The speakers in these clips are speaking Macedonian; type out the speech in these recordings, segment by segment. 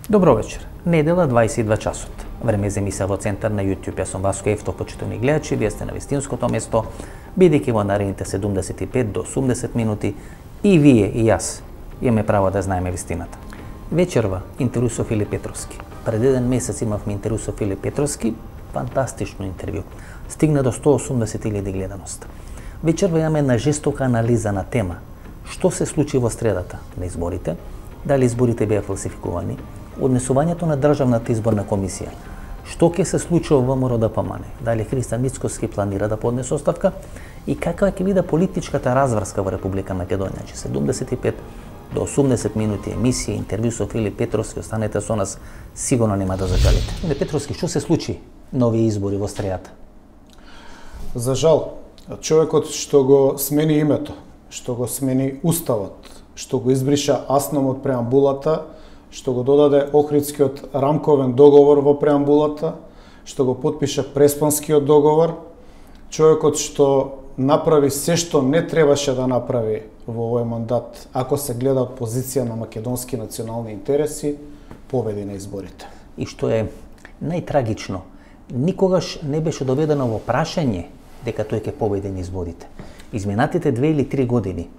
Добро вечер. Недела 22 часот. Време за емисија во центар на YouTube. Јас сум Васко Ефтов, почитувани гледачи, вие сте на вистинското место, бидејќи во наредните 75 до 80 минути и вие и јас имаме право да знаеме вистината. Вечерва интервју со Филип Петровски. Пред еден месец имавме интервју со Филип Петровски, фантастично интервју. Стигна до 180.000 гледаност. Вечерва имаме една жестока анализа на тема што се случи во средата на изборите, дали изборите беа фалсификувани, однесувањето на Државната изборна комисија, што ќе се случи во ВМРО-ДПМН, дали Христијан Мицкоски планира да поднесе оставка и каква ќе биде политичката разврска во Република Македонија. 75 до 80 минути емисија, интервју со Филип Петровски, останете со нас, сигурно нема да зажалите. Филип Петровски, што се случи на овие избори во средата? За жал, човекот што го смени името, што го смени уставот, што го избриша асном од преамбулата, што го додаде Охридскиот рамковен договор во преамбулата, што го потпиша Преспанскиот договор, човекот што направи се што не требаше да направи во овој мандат, ако се гледа од позиција на македонски национални интереси, победи на изборите. И што е најтрагично, никогаш не беше доведено во прашање дека тој ќе победи на изборите. Изминатите 2 или 3 години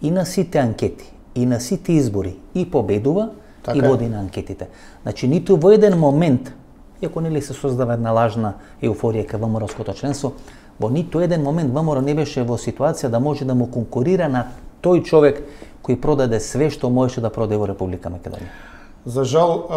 и на сите анкети, и на сите избори, и победува, така и води на анкетите. Значи, ниту во еден момент, иако нели се создава една лажна еуфорија кај ВМРО-ското членство, во ниту еден момент ВМРО не беше во ситуација да може да му конкурира на тој човек кој продаде све што можеше да продаде во Република Македонија. За жал,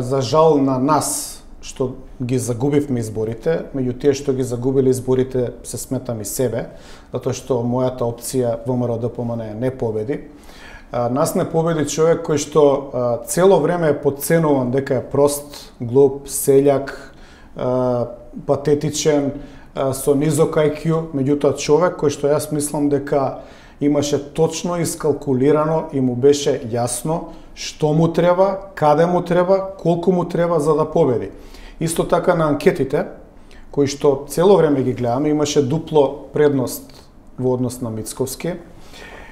за жал на нас, што ги загубивме изборите, меѓу тие што ги загубили изборите се сметам и себе, затоа што мојата опција ВМРО-ДПМН не победи. Нас не победи човек кој што цело време е подценуван дека е прост, глуп, селјак, патетичен, со низок IQ, меѓутоа човек кој што јас мислам дека имаше точно искалкулирано и му беше јасно што му треба, каде му треба, колку му треба за да победи. Исто така на анкетите, кои што цело време ги гледаме, имаше дупло предност во однос на Мицковски.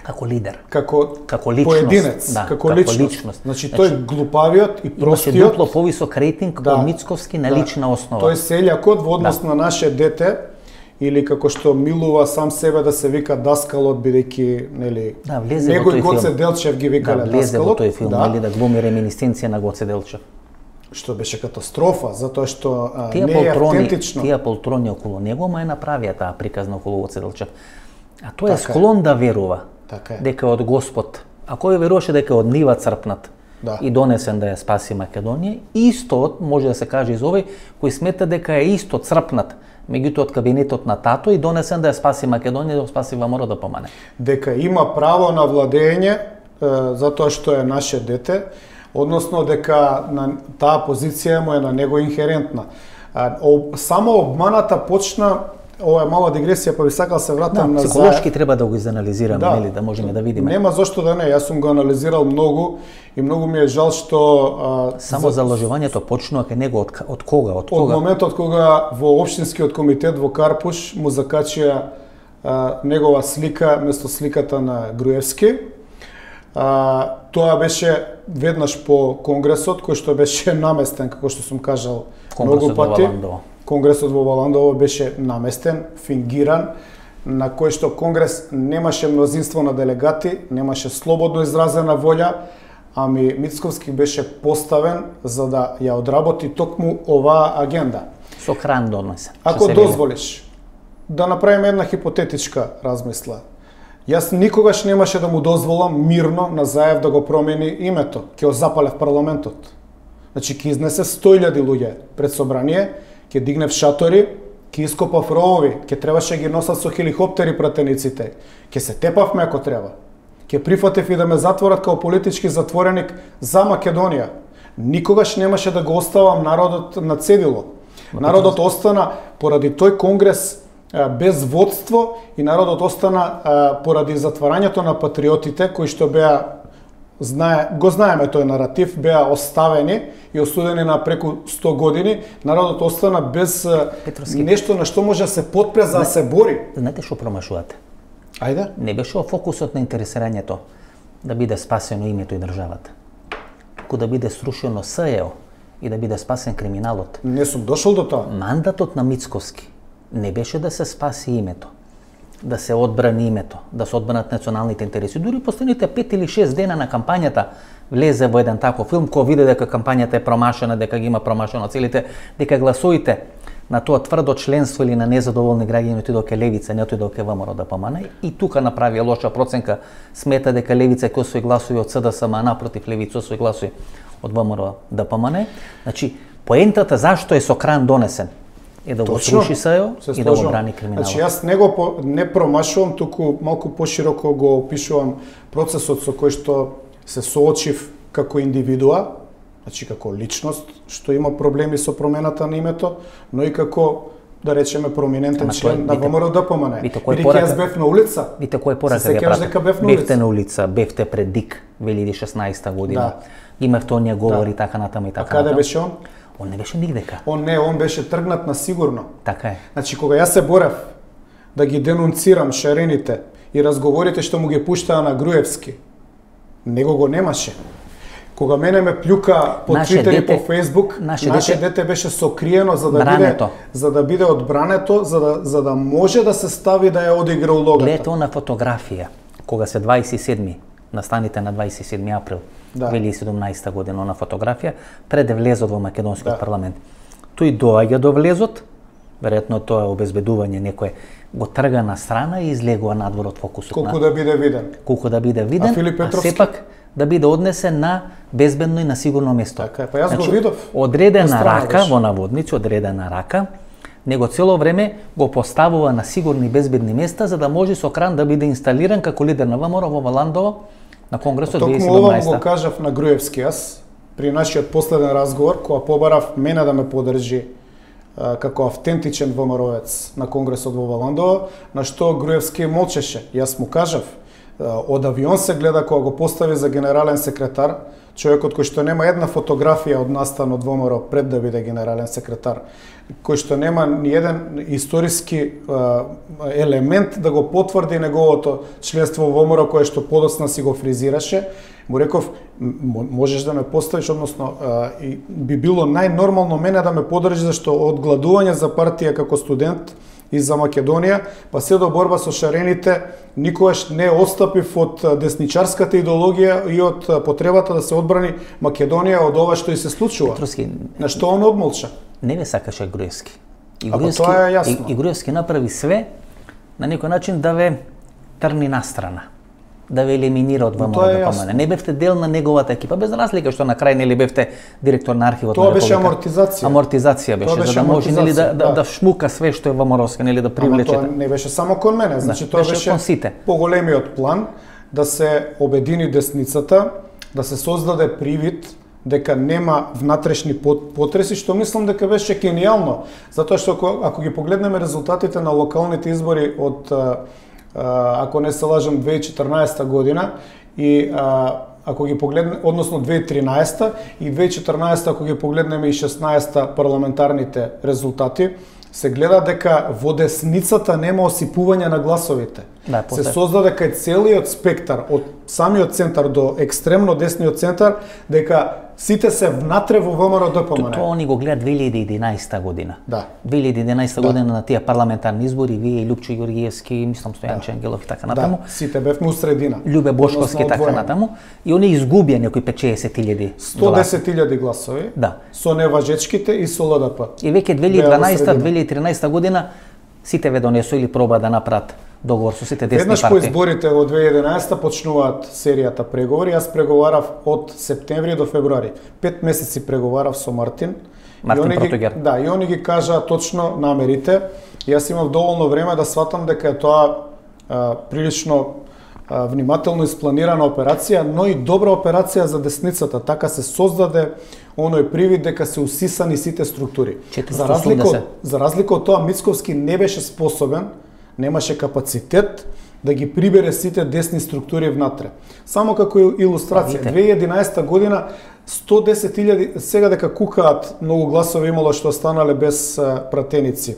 Како лидер. Како личност, поединец, да, како личност. Значи, тој глупавиот и простиот. Имаше дупло повисок рейтинг од Мицковски на лична основа. Тој селјакот во однос на наше дете, или како што милува сам себе да се вика даскалот, бидејќи, нели, него и Гоце Делчев ги викале даскалот. Влезе во тој филм, нели, да глуми реминисценција на Гоце Делчев. Што беше катастрофа, затоа што не е автентично. Тие полтрони околу него, ма е направија таа приказна околу Гоце Делчев. А тој е склон да верува дека од Господ, а кој веруваше дека од нива црпнат и донесен да ја спаси Македонија, исто може да се каже и за овој кој смета дека е исто црпнат меѓутоа од кабинетот на тато и донесен да ја спаси Македонија, да ја спаси ВМРО-ДПМН. Дека има право на владење затоа што е наше дете, односно дека таа позиција му е на него инхерентна. Само обманата почна, ова е мала дигресија, па би сакал се вратам на психолошки треба да го изанализираме, нели, да можеме да видиме. Нема зошто да не, јас сум го анализирал многу и многу ми е жал што само заложувањето почнува кај него од кога? Од моментот кога во општинскиот комитет во Карпуш му закачија негова слика место сликата на Груевски. Тоа беше веднаш по конгресот кој што беше наместен, како што сум кажал многу пати. Конгресот во Валандово беше наместен, фингиран, на кој што конгрес немаше мнозинство на делегати, немаше слободно изразена волја, ами Мицковски беше поставен за да ја одработи токму оваа агенда. Со кран донесен. Ако дозволиш да направиме една хипотетичка размисла, јас никогаш немаше да му дозволам мирно на Заев да го промени името, ќе го запале в парламентот. Значи, ќе изнесе 100.000 луѓе пред собрание, ќе дигнев шатори, ќе ископав ровови, ќе требаше ги носат со хеликоптери пратениците, ќе се тепавме ако треба, ќе прифатев и да ме затворат као политички затвореник за Македонија. Никогаш немаше да го оставам народот на цедило. Народот остана поради тој конгрес без водство и народот остана поради затварањето на патриотите кои што беа го знаеме тој наратив, беа оставени и осудени на преку 100 години, народот остана без нешто на што може да се потпре за да се бори. Знаете што промашувате? Ајде. Не беше фокусот на интересирањето да биде спасено името и државата. како да биде срушено СЕО и да биде спасен криминалот. Не сум дошол до тоа. Мандатот на Мицковски не беше да се спаси името, да се одбрани името, да се одбранат националните интереси. Дури последните 5 или 6 дена на кампањата влезе во еден таков филм кој види дека кампањата е промашена, дека ги има промашено целите, дека гласовите на тоа тврдо членство или на незадоволни граѓани отидоа ке левица, не отидоа ке ВМРО да помане, и тука направи лоша проценка, смета дека левица ќе освои гласови од СДСМ, а напротив левица освои гласови од ВМРО да помане. Значи, поентата зашто е Сокран донесен е да го сруши СЕО и да го брани криминалот. Значи, јас не промашувам, туку малку пошироко го опишувам процесот со кој што се соочив како индивидуа, значи како личност, што има проблеми со промената на името, но и како, да речеме, проминентен член на ВМРО ДПМН. Бидејќи јас бев на улица. Вите кој порака ја прави. Бевте на улица, бевте пред ДИК 2016 година. Да. Имавте оние говори така натаму и така натаму. А каде беше он? Он не беше нигдека. Он беше тргнат на сигурно. Така е. Значи, кога јас се борев да ги денунцирам шарените и разговорите што му ги пуштаа на Груевски, него го немаше. Кога мене ме плюка по Твитер и по Фейсбук, наше дете беше сокриено за да биде одбрането, за да може да се стави да ја одигра улогата. Гледате на фотографија, кога се 27 настаните на 27 април 2017 година на фотографија, пред да влезот во македонскиот парламент. Тој доаѓа до влезот, веројатно тоа е обезбедување, некој го трга на страна и излегува надвор од фокусот. Колку да биде виден. Колку да биде виден, а сепак да биде однесен на безбедно и на сигурно место. Така е, па јас го видов. Одредена рака, во наводници, одредена рака, него цело време го поставува на сигурни безбедни места за да може Сокран да биде инсталиран како лидер на ВМРО во Ландово на Конгресот 2017. Токму ова го кажав на Груевски јас при нашиот последен разговор, кога побарав мене да ме подржи како автентичен ВМРО-ец на Конгресот во Ландово, на што Груевски молчеше. Јас му кажав, од авион се гледа кога го постави за генерален секретар, човекот кој што нема една фотографија од настан од ВМРО пред да биде генерален секретар, кој што нема ни еден историски елемент да го потврди неговото членство во ВМРО кое што подоцна си го фризираше, му реков, можеш да ме поставиш, односно би било најнормално мене да ме подржи, зашто од гладување за партија како студент и за Македонија, па се до борба со шарените, никогаш не отстапив од десничарската идеологија и од потребата да се одбрани Македонија од ова што и се случува. Петровски, на што он одмолча? Не ве сакаше Груевски. Тоа е јасно. И Груевски направи све на некој начин да ве трни настрана, да ве елиминира од ВМРО. Не бевте дел на неговата екипа, без разлика што на крај нели бевте директор на архивот. Тоа беше амортизација. Амортизација беше, за да може нели да шмука све што е ВМРО-ска, нели да привлече. Ама тоа не беше само кон мене, значи тоа беше поголемиот план да се обедини десницата, да се создаде привид дека нема внатрешни потреси, што мислам дека беше гениално, затоа што ако ги погледнеме резултатите на локалните избори од ако не се лажам 2014 година и ако ги погледнеме, односно 2013 и 2014 ако ги погледнеме и 16 парламентарните резултати, се гледа дека во десницата нема осипување на гласовите. Да, се создаде кај целиот спектар, од самиот центар до екстремно десниот центар, дека сите се внатре во ВМРО ДПМН. Тоа они го гледат 2011 година. Да. 2011 година на тие парламентарни избори, вие и Лупчо Ѓоргиевски, мислам Стојанче Ангелов и така натаму. Да, сите бевме у средина. Љубе Бошковски и така натаму. И они изгубија некои 50.000 110.000 гласови. Да. Со неважечките и со ЛДП. И веќе 2012-2013 година сите ве донесоа или проба да направат договор со сите десни партии. Веднаш по изборите во 2011 почнуваат серијата преговори. Јас преговарав од септември до февруари. 5 месеци преговарав со Мартин Протогер. Да, и они ги кажаа точно намерите. Јас имав доволно време да сватам дека е тоа прилично внимателно испланирана операција, но и добра операција за десницата. Така се создаде оној привид дека се усисани сите структури. За разлика од тоа, Мицковски не беше способен, немаше капацитет да ги прибере сите десни структури внатре. Само како илустрација, 2011 година 110.000, сега дека кукаат многу гласови имало што останале без пратеници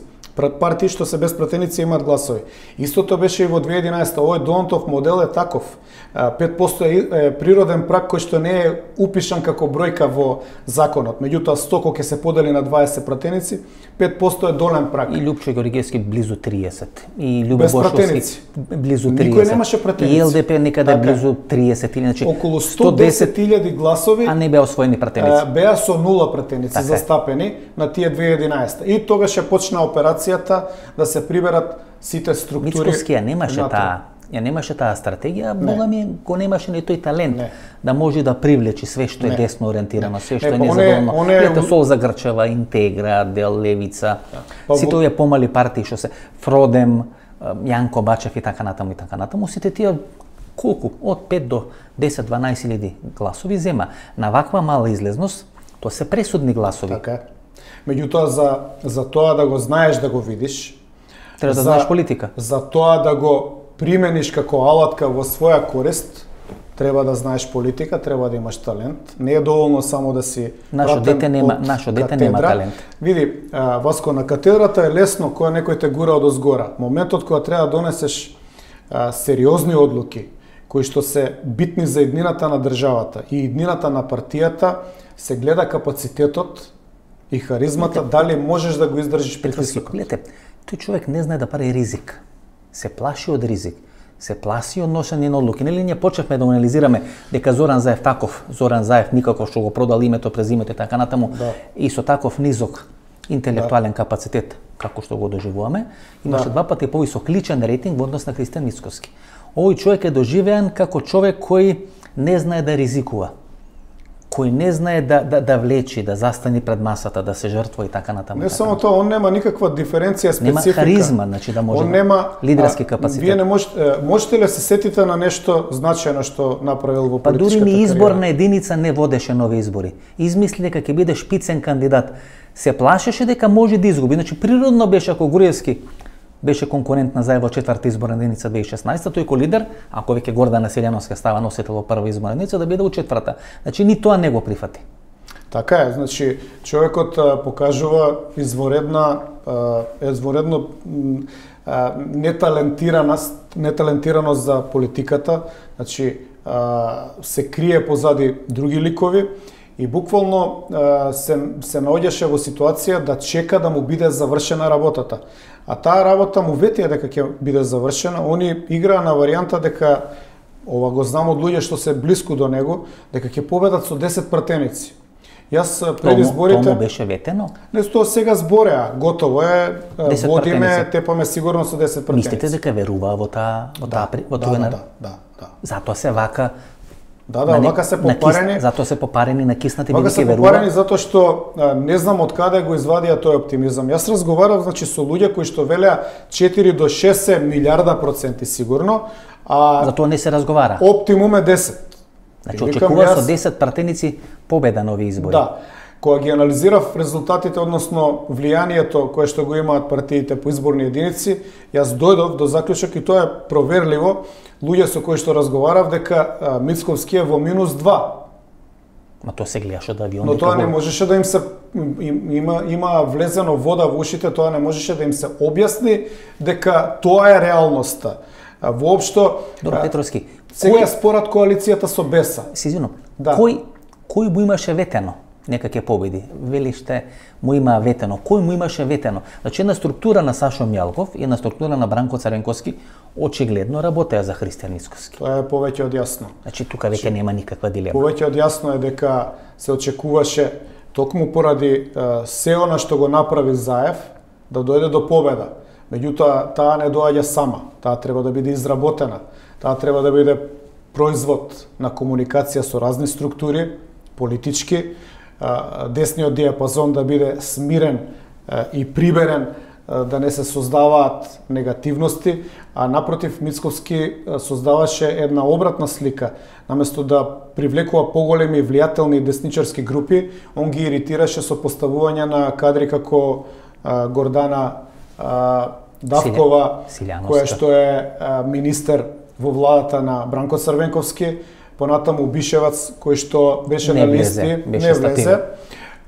партии што се без пратеници имаат гласови. Истото беше и во 2011. Овој Донтов модел е таков. 5% е природен праг кој што не е упишан како бројка во законот. Меѓутоа 100 кога ќе се подели на 20 пратеници, 5% е долен праг. И Лјупчо Георгиевски близу 30. И Љубо Бошовски близу 30. Никој немаше пратеници. И ЛДП некаде близу 30 или значи околу 110.000 гласови, а не беа освоени пратеници. Беа со 0 пратеници застапени на тие 2011. И тогаш ја почна операцијата да се приберат сите структури. Мицкоски немаше таа стратегија, бога ми го немаше ни тој талент да може да привлечи све што е десно ориентирано, све што е незадоволно. Ето Солза Грчева, Интегра, Дел Левица, сите овие помали партии што се Фродем, Јанко Бачев и така натаму, сите тие колку од 5 до 10-12 илјади гласови зема. На ваква мала излезност, тоа се пресудни гласови. Така. Меѓутоа за тоа да го знаеш, да го видиш, треба да знаеш политика. За тоа да го примениш како алатка во своја корист, треба да знаеш политика, треба да имаш талент. Не е доволно само да си Нашо дете нема талент. Види, Васко, на катедрата е лесно кога некој те гура одозгора. Моментот кога треба да донесеш сериозни одлуки, кои што се битни за иднината на државата и иднината на партијата, се гледа капацитетот и харизмата, дали можеш да го издржиш притискот. Гледате, тој човек не знае да прави ризик. Се плаши од ризик, се плаши од ношење на одлуки. Нели ние почнавме да анализираме дека Зоран Заев никако што го продал името, презимето и така натаму, и со таков низок интелектуален капацитет, како што го доживуваме, имаше 2 пати повисок личен рейтинг во однос на Христијан Мицкоски. Овој човек е доживеан како човек кој не знае да ризикува, кој не знае да влечи, да застани пред масата, да се жртва и така натаму. Не само тоа, он нема никаква диференција, специфика. Нема харизма, значи да може. Он нема лидерски капацитет. Вие не можете ли се сетите на нешто значајно што направил во политичката кариера? Па дури ни изборна кариера? единица не водеше нови избори. Измисли дека ќе биде шпицен кандидат. Се плашеше дека може да изгуби. Значи природно беше ако Груевски беше конкурент на Заев во 4-та изборна единица 2016, тој ко лидер, ако веќе Гордана Селјановска става носител во 1-та изборна единица, да биде во 4-та. Значи ни тоа не го прифати. Така е, значи човекот покажува изворедно неталентираност за политиката, значи се крие позади други ликови и буквално се наоѓаше во ситуација да чека да му биде завршена работата. А таа работа му ветија дека ќе биде завршена, они играа на варијанта дека, ова го знам од луѓе што се блиску до него, дека ќе победат со 10 пратеници. Јас пред изборите... Тоа беше ветено? Не, тоа сега збореа, готово е, водиме, тепаме сигурно со 10 пратеници. Мислите дека веруваа во тоа? Да. Затоа се вака... вака се попарени. Затоа се попарени, накиснати, вака се попарени затоа што не знам од каде го извадија тој оптимизам. Јас разговарав значи со луѓе кои што велеа 4 до 6 милиарда проценти сигурно, а затоа не се разговара. Оптимум е 10. Значи очекува со 10 пратеници победа на овие избори. Да. Кога ги анализирав резултатите, односно влијанието кое што го имаат партиите по изборни единици, јас дојдов до заклучок и тоа е проверливо. Луѓе со кои што разговарав дека Мицковски е во -2. Ма тоа се гледаше од авион. Но тоа не можеше да им се има влезено вода во ушите, тоа не можеше да им се објасни дека тоа е реалноста. Воопшто Добро, Петровски, сега според коалицијата со Беса. Сизино, кој му имаше ветено нека ќе победи? Велиште му има ветено. Кој му имаше ветено? Значи една структура на Сашо Мјалков и една структура на Бранко Царенковски очигледно работеа за Христијан Мицкоски. Тоа е повеќе од јасно. Значи тука веќе нема никаква дилема. Повеќе од јасно е дека се очекуваше токму поради се она што го направи Заев да дојде до победа. Меѓутоа таа не доаѓа сама. Таа треба да биде изработена. Таа треба да биде производ на комуникација со разни структури, политички, десниот диапазон да биде смирен и приберен, да не се создаваат негативности, а напротив Мицковски создаваше една обратна слика. Наместо да привлекува поголеми влијателни десничарски групи, он ги иритираше со поставување на кадри како Гордана Давкова, која што е министер во владата на Бранко Црвенковски, понатаму Бишевац, кој што беше на листи, не влезе.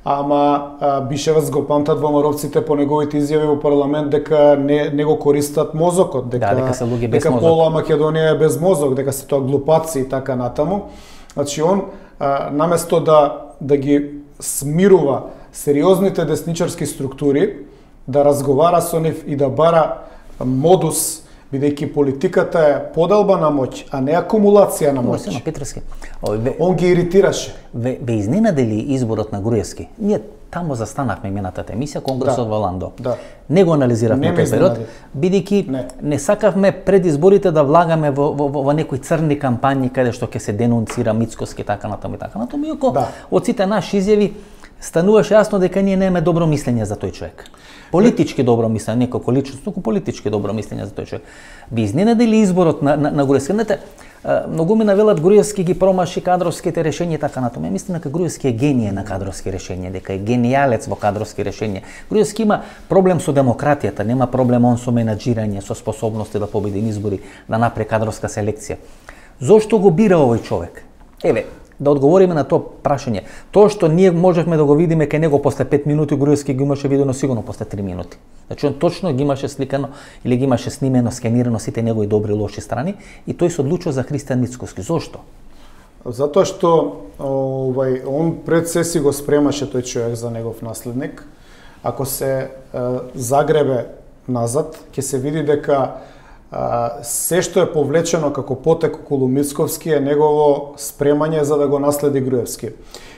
ама Бишевец го памтат ВМРО-вците по неговите изјави во парламент дека не го користат мозокот, дека се луѓе без мозок. пола Македонија е без мозок, дека се тоа глупаци и така натаму. Значи он наместо да ги смирува сериозните десничарски структури, да разговара со нив и да бара модус, бидејќи политиката е поделба на моќ, а не акумулација на моќ. Петровски. Он ги иритираше. Ве изненадели изборот на Груевски? Ние таму застанавме минатата емисија, Конгресот во Ландо. Да. Не го анализиравме тој период, бидејќи не сакавме пред изборите да влагаме во некои црни кампањи каде што ќе се денунцира Мицкоски така натаму и така натаму. Иако од сите наши изјави стануваше јасно дека ние немаме добро мислење за тој човек. Политички добро мислење, не како личност, туку политички добро мислење за тој човек. Би изненадели изборот на Груевски? Многу ми навелат Груевски ги промаши кадровските решенија така натаму. Ја мислам дека Груевски е геније на кадровски решенија, дека е генијалец во кадровски решенија. Груевски има проблем со демократијата, нема проблем он со менаџирање, со способности да победи избори, да направи кадровска селекција. Зошто го бира овој човек? Еве, да одговориме на тоа прашање. Тоа што ние можевме да го видиме кај него после 5 минути, Груевски ги имаше видено сигурно после 3 минути. Значи он точно ги имаше сликано или ги имаше снимено, скенирано сите негови добри и лоши страни и тој се одлучил за Христијан Мицкоски. Зошто? Затоа што он пред се си го спремаше тој човек за негов наследник. Ако се загребе назад, ќе се види дека се што е повлечено како потек околу Мицковски е негово спремање за да го наследи Груевски.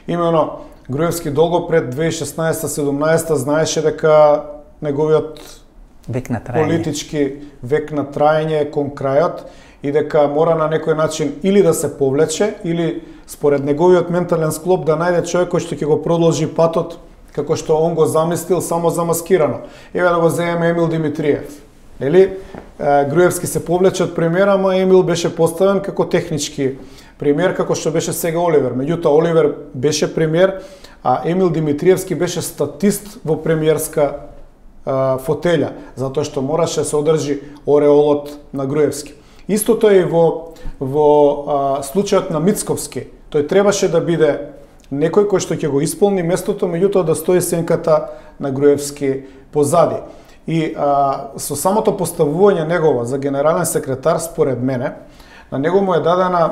Имено, Груевски долго пред 2016-17 знаеше дека неговиот политички век на траење е кон крајот и дека мора на некој начин или да се повлече, или според неговиот ментален склоп да најде човек кој што ќе го продолжи патот како што он го замислил, само замаскирано. Еве да го земеме Емил Димитриев. Нели, Груевски се повлече од премиера, ама Емил беше поставен како технички премиер, како што беше сега Оливер. Меѓутоа, Оливер беше премиер, а Емил Димитриевски беше статист во премиерска фотелја, затоа што мораше да се одржи ореолот на Груевски. Истото е и во случајот на Мицковски. Тој требаше да биде некој кој што ќе го исполни местото, меѓутоа да стои сенката на Груевски позади. И со самото поставување негово за генерален секретар, според мене, на него му е дадена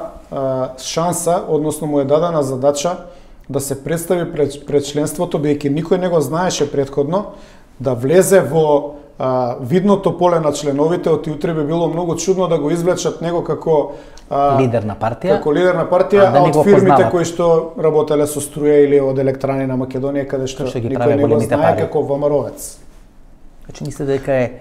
шанса, односно му е дадена задача да се представи пред членството, бидејќи никој не го знаеше претходно, да влезе во видното поле на членовите. Од утре би било многу чудно да го извлечат него како лидер на партија, а од фирмите кои што работеле со струја или од Електрани на Македонија, каде што никој не го знае како ВМРО-вец. Значи мислите дека е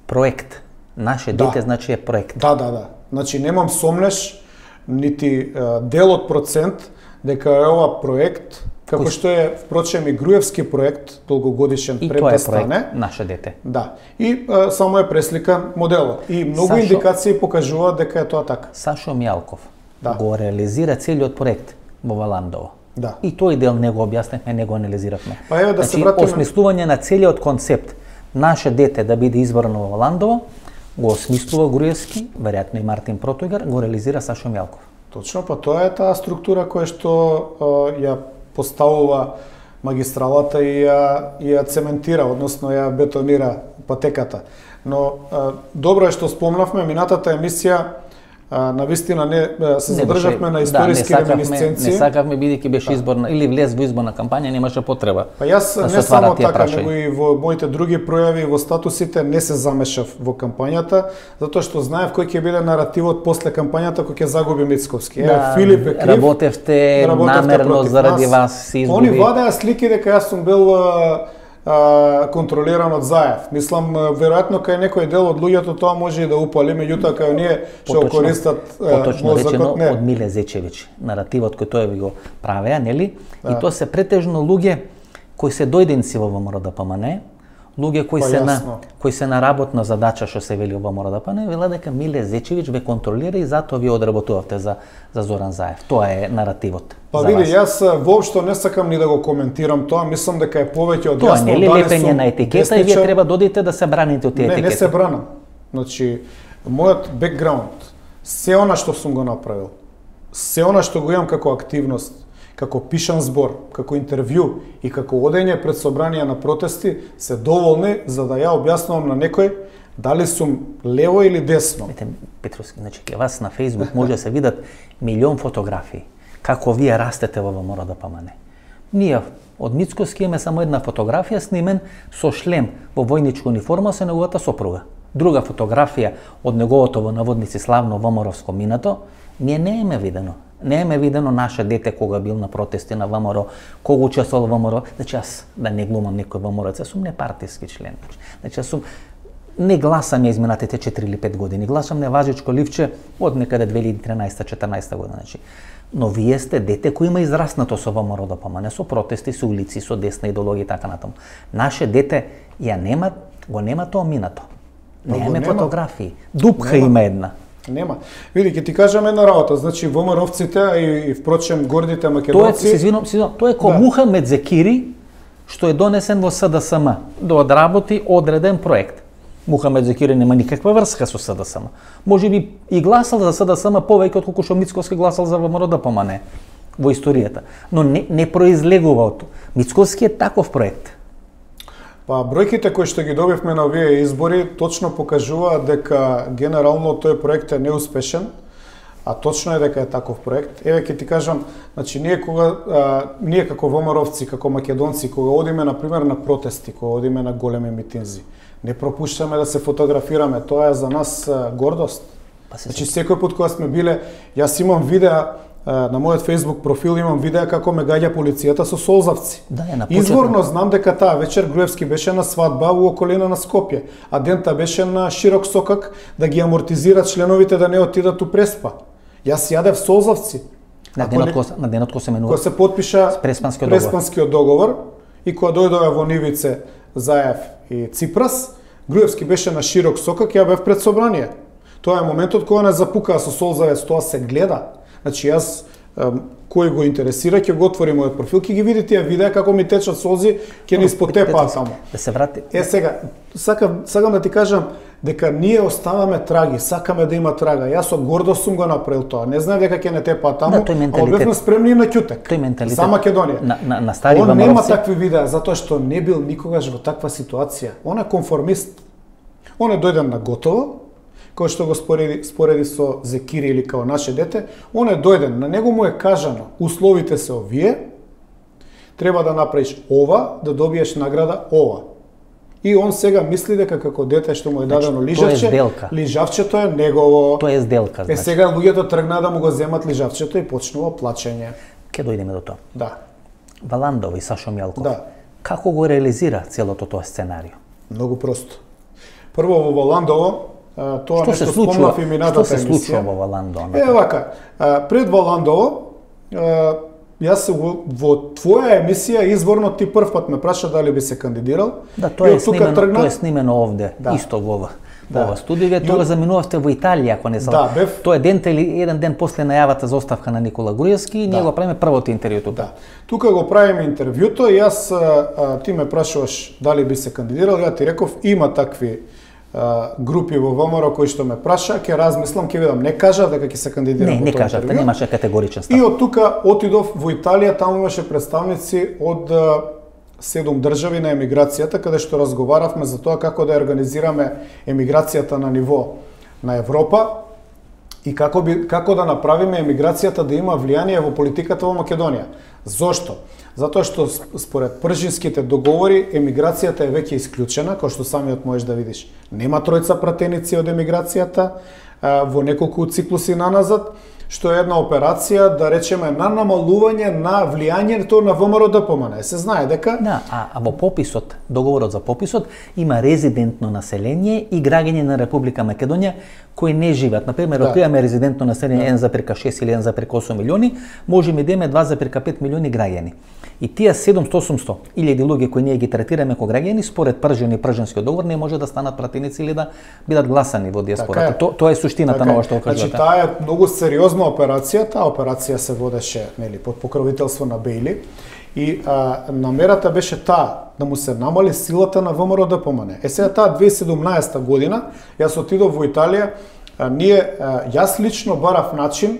проект. Наше дете значи е проект. Да. Значи немам сомнеш, нити дел од процент дека е ова проект, како што е впрочем и Груевски проект, долгогодишен пред да стане. И тоа е проект Наше дете. Да. И само е пресликан моделот. И многу индикации покажуваат дека е тоа така. Сашо Мјалков го реализира целиот проект во Валандово. Да. И тој дел не го објасневме, не го анализиравме. Па еве да се вратиме. Осмислување на целиот концепт Наше дете да биде избрано во Валандово, го осмислува Груевски, веројатно и Мартин Протогар, го реализира Сашо Мјалков. Точно, па тоа е таа структура која што ја поставува магистралата и ја цементира, односно ја бетонира патеката. Но добро е што спомнавме, минатата емисија навистина не се задржавме на историски реминисценции. Не сакавме, бидејќи беше изборна или влез во изборна кампања, немаше потреба. Па јас не само така, него и во моите други пројави во статусите не се замешав во кампањата, затоа што знаев кој ќе биде наративот после кампањата кој ќе загуби Мицковски. Филип е крив. Работевте намерно заради вас се изгуби. Они вадеа слики дека јас сум бил контролиран од Заев. Мислам, веројатно кај некој дел од луѓето тоа може и да упали, меѓутоа кај оние што користат мозокот не. Од Миле Зечевиќ, наративот кој тој ви го правеа, нели? И тоа се претежно луѓе кои се дојденци во ВМРО-ДПМНЕ, луѓе кои се на работна задача што се вели во ВМРО-ДПМНЕ, вела дека Миле Зечевиќ ве контролира и затоа ви одработувавте за Зоран Заев. Тоа е наративот. Па види, јас воопшто не сакам ни да го коментирам тоа, мислам дека е повеќе од јасно. Тоа не е лепење на етикета и вие треба додите да се браните од тие етикети. Не се бранам. Значи, мојот бекграунд, се она што сум го направил, се она што го имам како активност, како пишан збор, како интервју и како одење пред собранија на протести се доволни за да ја објаснувам на некој дали сум лево или десно. Петровски, значи, кај вас на Facebook може да се видат милион фотографии како вие растете во ВМРО ДПМН. Ние од Мицкоски имаме само една фотографија снимен со шлем во војничка униформа со неговата сопруга. Друга фотографија од неговото во наводници славно ВМРО-вско минато, ние не имаме видено. Не имаме видено наше дете кога бил на протести на ВМРО, кога учествувал во ВМРО. Значи, аз да не глумам некој ВМРО-ец, сум непартиски член. Значи, аз сум не гласам ја изминатите 4 или 5 години. Гласам неважичко ливче од некаде 2013-14 година. Значи, но вие сте дете кој има израснато со ВМРО ДПМН, со протести, со улици, со десна идеологија и така натаму. Наше дете го нема тоа минато. Немаме фотографии. Дупка има една. Нема. Види, ќе ти кажам една работа. Значи, ВМРО-вците и впрочем гордите македонци... Тоа е муха Медзекири, што е донесен во СДСМ да одработи одреден проект. Мухамед Зекири нема никаква врска со СДСМ. Може би и гласал за СДСМ повеќе отколку што Мицкоски гласал за ВМРО ДПМН во историјата. Но не произлегува од тоа. Мицкоски е таков проект. Па бројките кои што ги добивме на овие избори точно покажуваат дека генерално тој проект е неуспешен, а точно е дека е таков проект. Еве ќе ти кажам, значи ние како ВМРО-вци, како македонци, кога одиме на пример на протести, кога одиме на големи митинзи, не пропуштаме да се фотографираме, тоа е за нас гордост. Значи секој пат кога сме биле, јас имам видеа на мојот Facebook профил, имам видеа како ме гаѓа полицијата со солзавци. Изворно знам дека таа вечер Груевски беше на свадба во околина на Скопје, а дента беше на Широк Сокак да ги амортизира членовите да не отидат у Преспа. Јас јадев солзавци. На денот кој се менува. Кој се потпиша Преспанскиот договор и кога дојдове во Нивице, Заев и Ципрас, Груевски беше на Широк Сокак, ја бев пред собрание. Тоа е моментот кога не запукаа со солзавец, тоа се гледа. Значи јас кој го интересира ќе го отвори мојот профил, ќе ги види тие видеа како ми течат солзи, ќе не испотепаат таму. Да се врати. Сега сакам да ти кажам дека ние оставаме траги, сакаме да има трага. Јас со гордост сум го направил тоа. Не знаев дека ќе не тепаат таму, а бевме спремни на ќутек. Тој менталитет за Македонија. На стари Он нема такви видеа затоа што не бил никогаш во таква ситуација. Он е конформист. Он е дојден на готово, кој што го спореди со Зекири или као наше дете, он е дојден, на него му е кажано, условите се овие, треба да направиш ова, да добиеш награда ова. И он сега мисли дека како дете што му е дадено лижавчето е негово. Тоа е сделка, значи. Сега луѓето тргнаа да му го земат лижавчето и почнува плачење. Ке дојдеме до тоа. Да. Валандов и Сашо Мјалков. Да. Како го реализира целото тоа сценарио? Многу просто. Прво во Валандово, тоа нешто спомнав и минатата емисија. Што се случува во Валандово? Вака, пред Валандово, јас во твоја емисија изворно ти прв пат ме праша дали би се кандидирал. Да, тоа е снимено овде, исто во ова студио. Тоа заминувавте во Италија, ако не знам. Тоа е ден или еден ден после најавата за оставка на Никола Груевски и ние го правиме првото интервју тука. Да. Тука го правиме интервјуто и јас ти ме прашуваш дали би се кандидирал, ја ти реков има такви групи во ВМРО кои што ме праша, ќе размислам, ќе видам, не кажа дека ќе се кандидирам. Не кажавте, немаше категоричен став. И од тука отидов во Италија, таму имаше представници од 7 држави на емиграцијата, каде што разговаравме за тоа како да организираме емиграцијата на ниво на Европа и како да направиме емиграцијата да има влијание во политиката во Македонија. Зошто? Затоа што според пржинските договори емиграцијата е веќе исклучена, кој што самиот можеш да видиш. Нема тројца пратеници од емиграцијата во неколку циклуси наназад, што е една операција, да речеме, на намалување на влијањето на ВМРО ДПМН. Се знае дека... Да, а во пописот, договорот за пописот, има резидентно население и граѓање на Република Македонија кои не живеат. Например, ако имаме резидентно население 1,6 или 1,8 милиони, можеме да имаме 2,5 милиони граѓани. И тие 700-800 илјади луѓе кои ние ги третираме како граѓани, според пржен и прженскиот договор, не може да станат пратеници или да бидат гласани во диаспората. Тоа е суштината на ова што кажувате. Значи, таа е многу сериозна операција. Таа операција се водеше под покровителство на Бејли и намерата беше таа да му се намали силата на ВМРО ДПМН. Сега таа 2017 година, јас отидов во Италија, јас лично барав начин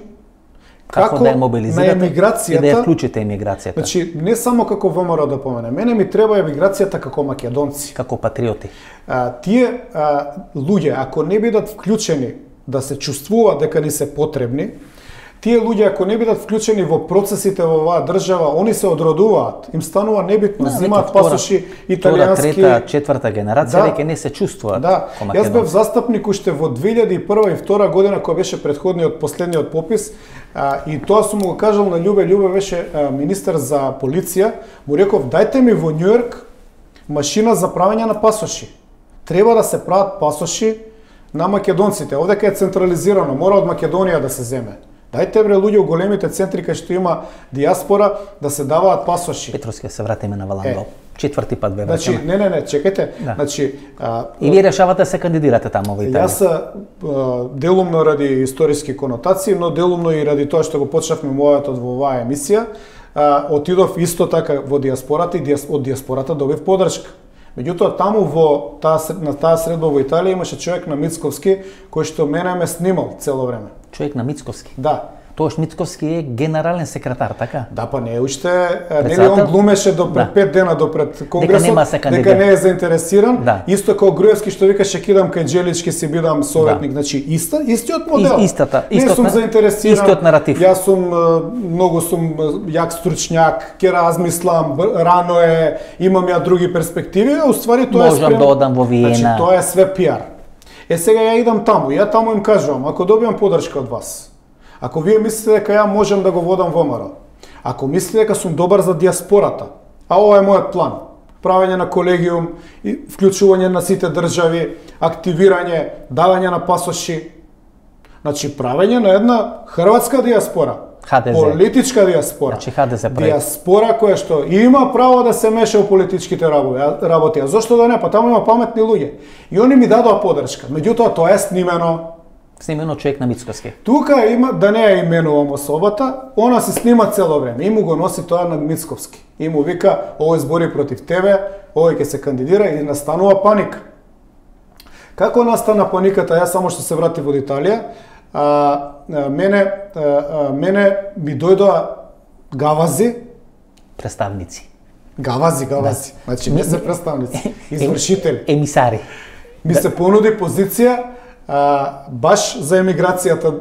Како да ја мобилизирате на емиграцијата, и да ја вклучите емиграцијата? Значи, не само како ВМРО да помене, мене ми треба емиграцијата како македонци. Како патриоти. Тие луѓе, ако не бидат вклучени да се чувствуваат дека ни се потребни, тие луѓе ако не бидат вклучени во процесите во оваа држава, они се одродуваат, им станува небитно, земаат пасоши италијански. Трета, четврта генерација веќе не се чувствуваат. Да, јас бев застапник уште во 2001 и 2002 година кога беше претходниот последниот попис, и тоа сум му го кажал на Љубе беше министер за полиција, му реков дајте ми во Њујорк машина за правење на пасоши. Треба да се прават пасоши на македонците. Овдека е централизирано, мора од Македонија да се земе. Дајте бре луѓе у големите центри кај што има диаспора да се даваат пасоши. Петровски се вратиме на Валандол. Четврти пат бе Значи, не, чекајте. Да. Значи, и вие решавате да се кандидирате таму во Италија. Јас делумно ради историски конотации, но делумно и ради тоа што го почнавме мојот во оваа емисија, отидов исто така во диаспората и од диаспората добив поддршка. Меѓутоа таму на таа средба во Италија имаше човек на Мицковски кој што мене ме снимал цело време. Човек на Мицковски? Да. Тоаш Мицковски е генерален секретар, така? Да, па не уште, нели он глумеше до пред 5 дена до пред конгресот, дека не е заинтересиран, да. Исто како Груевски што викаше кидам кај Джелички си бидам советник, значи истиот модел. Не сум заинтересиран. Истиот наратив. Јас сум многу сум јак стручњак, ќе размислам, рано е, имам ја други перспективи, а уствари тоа можам да одам во Виена. Значи тоа е све пиар. Сега ја идам таму, ја таму им кажувам, ако добиам поддршка од вас, ако вие мислите дека ја можам да го водам ВМРО, ако мислите дека сум добар за диаспората, а ова е мојот план, правење на колегиум, вклучување на сите држави, активирање, давање на пасоши, значи правење на една хрватска диаспора, ХДЗ. Политичка диаспора. Значи ХДЗ прави. Диаспора која што има право да се меша во политичките работи. А зошто да не? Па таму има паметни луѓе. И они ми дадоа поддршка. Меѓутоа тоа е снимено. Снимено човек на Мицковски. Тука има, да не ја именувам особата, она се снима цело време. И му го носи тоа на Мицковски. И му вика, овој збори против тебе, овој ќе се кандидира и настанува паника. Како настана паниката? Јас само што се вратив од Италија, мене ми дојдоа гавази, представници. Гавази. Да. Значи не се представници, извршители. Емисари. Ми се понуди позиција баш за емиграцијата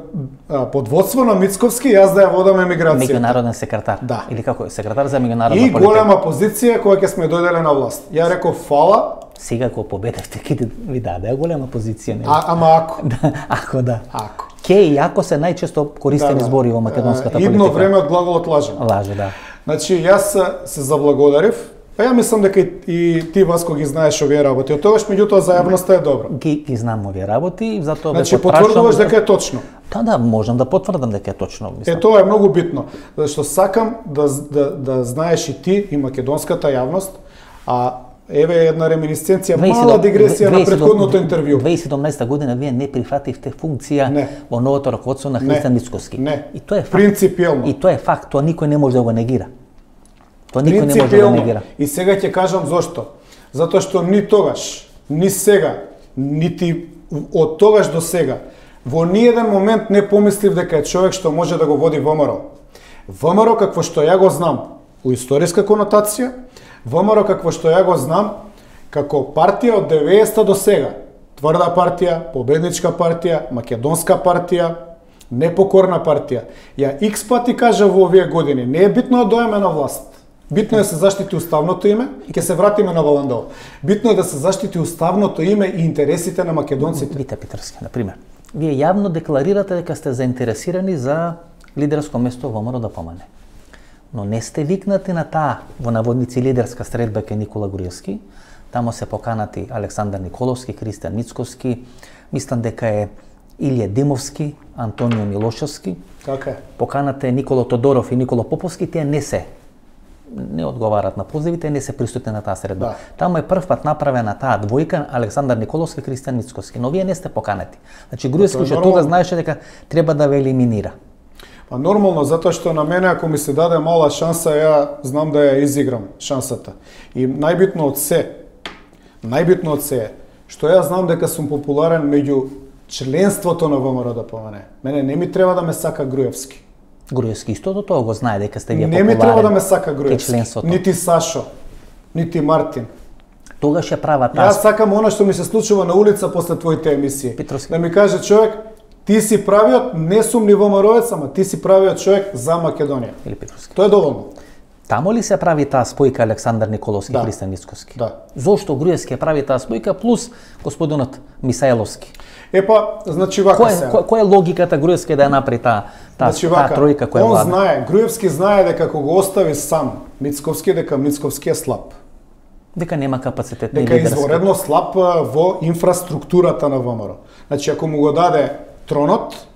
под водство на Мицковски, јас да ја водам емиграцијата. Меѓународен секретар. Да. Или како е? Секретар за меѓународна политика. И голема позиција која ќе сме дојделе на власт. Ја реков фала. Сега кога победевте, ќе ви даде голема позиција. Ама ако. Ако да. Ако. Ке и ако се најчесто користени збори во македонската политика. Идно време од глаголот лажем. Лаже, да. Значи, јас се заблагодарив. Па ја мислам дека и ти, Васко, ги знаеш овие работи. Од тогаш, меѓутоа, за јавноста е добро. Ги знам овие работи, затоа значи, потврдуваш дека е точно. Да, можам да потврдам дека е точно. Мислам. Тоа е многу битно, зашто сакам да знаеш и ти, и македонската јавност, еве една реминисценција, мала дигресија на претходното интервју. 2017 година вие не прифативте функција во новото раководство на Христијан Мицковски. Не. И тоа е факт. Принципиелно. И тоа е факт, тоа никој не може да го негира. Тоа никој не може да го негира. И сега ќе кажам зошто. Затоа што ни тогаш, ни сега, нити од тогаш до сега, во ниеден момент не помислив дека е човек што може да го води ВМРО. ВМРО какво што ја го знам у историска конотација, ВМРО какво што ја го знам како партија од 90-та до сега. Тврда партија, победничка партија, македонска партија, непокорна партија. Ја икс пати кажа во овие години, не е битно да доеме на власт. Битно е да се заштити уставното име и ќе се вратиме на Валандол. Битно е да се заштити уставното име и интересите на македонците. Вите Петрски, на пример. Вие јавно декларирате дека сте заинтересирани за лидерско место во ВМРО да помане. Но не сте викнати на таа, во наводници, лидерска средба кај Никола Груевски. Тамо се поканати Александар Николовски, Христијан Мицковски, мислам дека е Илија Димовски, Антонио Милошевски. Така е. Поканате Никола Тодоров и Никола Поповски, тие не одговарат на позивите, не се присутни на таа средба. Да. Тамо е прв пат направена таа двојка Александар Николовски, Христијан Мицковски, но вие не сте поканети. Значи Груевски што тога знаеше дека треба да ве елиминира. Па нормално, затоа што на мене ако ми се даде мала шанса, ја знам да ја изиграм шансата. И најбитно од се е што ја знам дека сум популарен меѓу членството на ВМРО да помане. Мене не ми треба да ме сака Груевски. Груевски истото тоа го знае дека сте вие Не популарен. ми треба да ме сака Груевски, членството. нити Сашо, нити Мартин. Тогаш ја прават Јас сакам она што ми се случува на улица после твоите емисии. Петровски. Да ми каже човек, ти си правиот, не сум ни ВМРО-ец, ама ти си правиот човек за Македонија. Или Петровски. Тоа е доволно. Тамо ли се прави таа спојка Александар Николовски Да. Христијан Мицкоски? Да. Зошто Груевски ја прави таа спојка плюс господинот Мисаеловски? Значи вака Која е логиката Груевски да ја направи таа тројка која он влада? знае, Груевски знае дека кога го остави сам Мицковски, дека Мицковски е слаб. Дека нема капацитет ни Дека е лидерски. изворедно слаб во инфраструктурата на ВМРО. Значи, ако му го даде тронот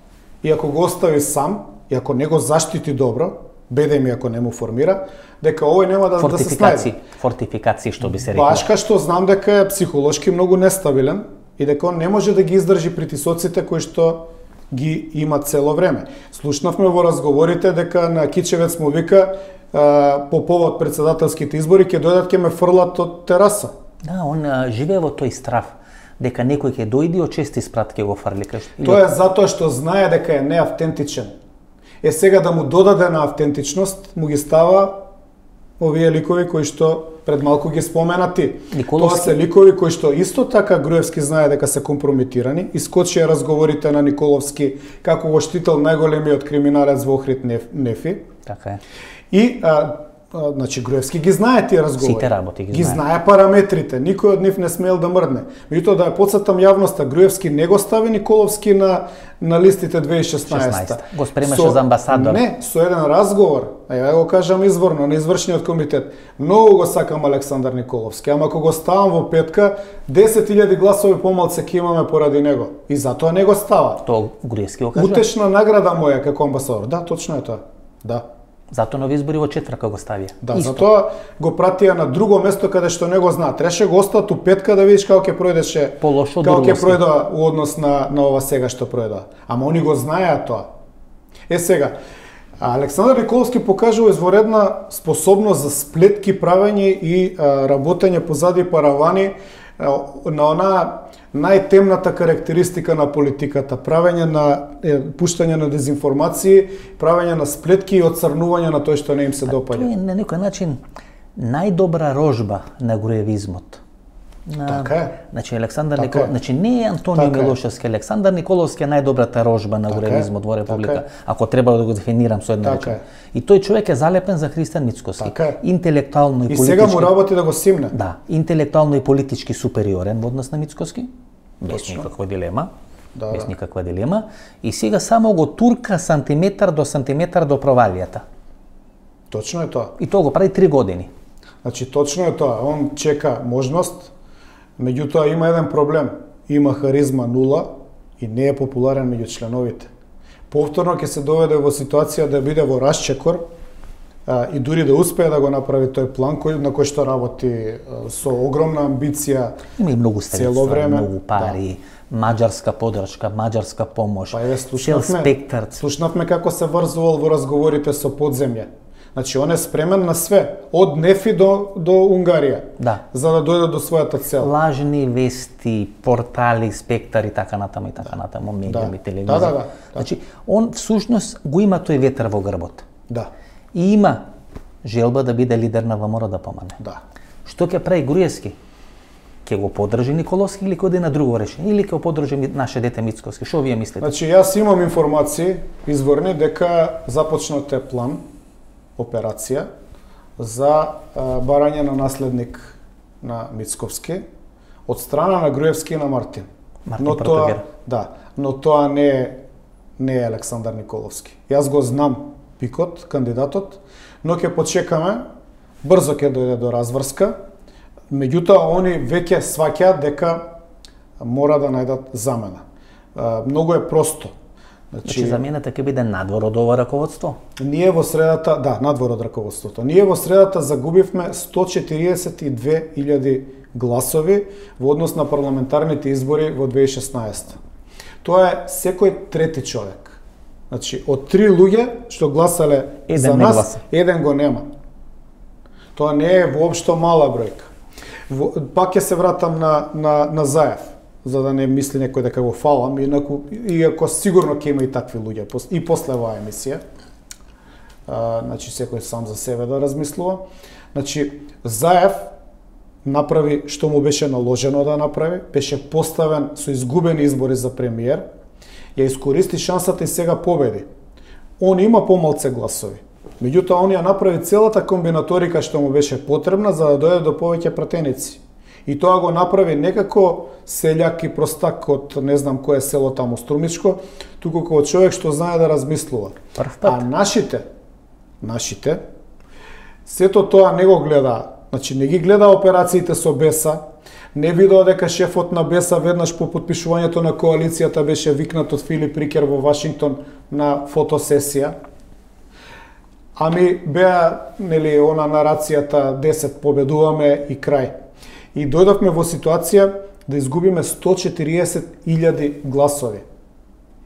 и ако го остави сам, и ако не го заштити добро, беде ми ако не му формира, дека овој нема да се снајде. Фортификации, што би се рекло. Башка што знам дека е психолошки многу нестабилен и дека он не може да ги издржи притисоците кои што ги има цело време. Слушнавме во разговорите дека на Кичевец му вика по повод председателските избори ќе дојдат ќе ме фрлат од тераса. Да, он живее во тој страв дека некој ќе дојде и од чести спрат ќе го фрли кај. Тоа е затоа што знае дека е неавтентичен. Сега да му додаде на автентичност, му ги става овие ликови кои што пред малку ги споменати. Николовски. Тоа се ликови кои што исто така Груевски знае дека се компрометирани. Искочија разговорите на Николовски како го штител најголемиот криминалец во Охрид Нефи. Така е. И значи Груевски ги знае тие разговори. Сите работи ги знае. знае параметрите, никој од нив не смел да мрдне. Меѓутоа да ја потсетам јавноста, Груевски не го стави Николовски на листите 2016. Го спремаше за амбасадор. Не, со еден разговор, ја го кажам изворно, на извршниот комитет. Многу го сакам Александар Николовски, ама ако го ставам во петка, 10.000 гласови помалце ќе имаме поради него. И затоа не го става. Тоа Груевски го кажа. Утешна награда моја како амбасадор. Да, точно е тоа. Да. Зато нови избори во четвртка го ставија. Да, затоа го пратија на друго место каде што не го знаат. Треше го остат у петка да видиш како ќе пројдеше, Полошо од како ќе Орловски. пројде у однос на ова сега што пројде. Ама они го знаеа тоа. Сега, Александар Николовски покажува изворедна способност за сплетки, правење и работење позади паравани на она најтемната карактеристика на политиката, правење на пуштање на дезинформации, правење на сплетки и оцрнување на тој што не им се допаѓа. Тоа е на некој начин најдобра рожба на груевизмот. Така е. Значи Александар Така Николовски, е. значи не е Антонио Така е. Милошевски, Александар Николовски е најдобрата рожба на Така е. груевизмот во Република, Така е. ако треба да го дефинирам со една Така реченица. е. И тој човек е залепен за Христијан Мицкоски. Така е. Интелектуално и И политички. сега му работи да го симне. Да, интелектуално и политички супериорен во однос на Мицкоски, без Точно. никаква дилема. Да, без да. никаква дилема. И сега само го турка сантиметар до провалијата. Точно е тоа. И тоа го прави 3 години. Значи, точно е тоа. Он чека можност, меѓутоа има еден проблем. Има харизма нула и не е популарен меѓу членовите. Повторно ќе се доведе во ситуација да биде во расчекор и дури да успее да го направи тој план на кој што работи со огромна амбиција. Има и многу Цело средства, време, многу пари, маđarска подршка, маđarска помош, Па еве цел спектар. слушнавме како се врзувал во разговорите со подземје. Значи он е спремен на све, од Нефи до Унгарија, Да. за да дојде до својата цел. Лажни вести, портали, спектар и така натаму и така натаму, медиуми, телевизија. Да. Значи, он всушност го има тој ветер во грбот. Да, И има желба да биде лидер на ВМРО да помане. да. Што ќе прави Груевски? Ќе го подржи Николовски или ќе оди на друго решение? Или ќе го подржи наше дете Мицкоски? Што вие мислите? Значи јас имам информации изворни дека започнат е план, операција за барање на наследник на Мицковски од страна на Груевски и на Мартин. Мартин Но тоа, пропагира. да, но тоа не е Александар Николовски. Јас го знам пикот, кандидатот, но ќе почекаме, брзо ќе дојде до разврска. Меѓутоа, они веќе сваќаат дека мора да најдат замена. Многу е просто. Значи, замената ќе биде надвор од ова раководство? Ние во средата, да, надвор од раководството. Ние во средата загубивме 142.000 гласови во однос на парламентарните избори во 2016. Тоа е секој трети човек. Значи, од 3 луѓе што гласале за не нас, гласа. еден го нема. Тоа не е воопшто мала бројка. Пак ќе се вратам на Заев, за да не мисли некој дека го фалам, иако сигурно ќе има и такви луѓе и после оваа емисија. значи секој сам за себе да размислува. Значи Заев направи што му беше наложено да направи, беше поставен со изгубени избори за премиер, ја искористи шансата и сега победи. Он има помалце гласови. Меѓутоа, он ја направи целата комбинаторика што му беше потребна за да дојде до повеќе пратеници. И тоа го направи некако селјак и простак од не знам кое село таму Струмичко, туку како човек што знае да размислува. А нашите, сето тоа не го гледа. Значи, не ги гледа операциите со Беса, не видео дека шефот на Беса веднаш по потпишувањето на коалицијата беше викнат од Филип Рикер во Вашингтон на фотосесија. Ами беа, нели, она нарацијата 10 победуваме и крај. И дојдовме во ситуација да изгубиме 140.000 гласови.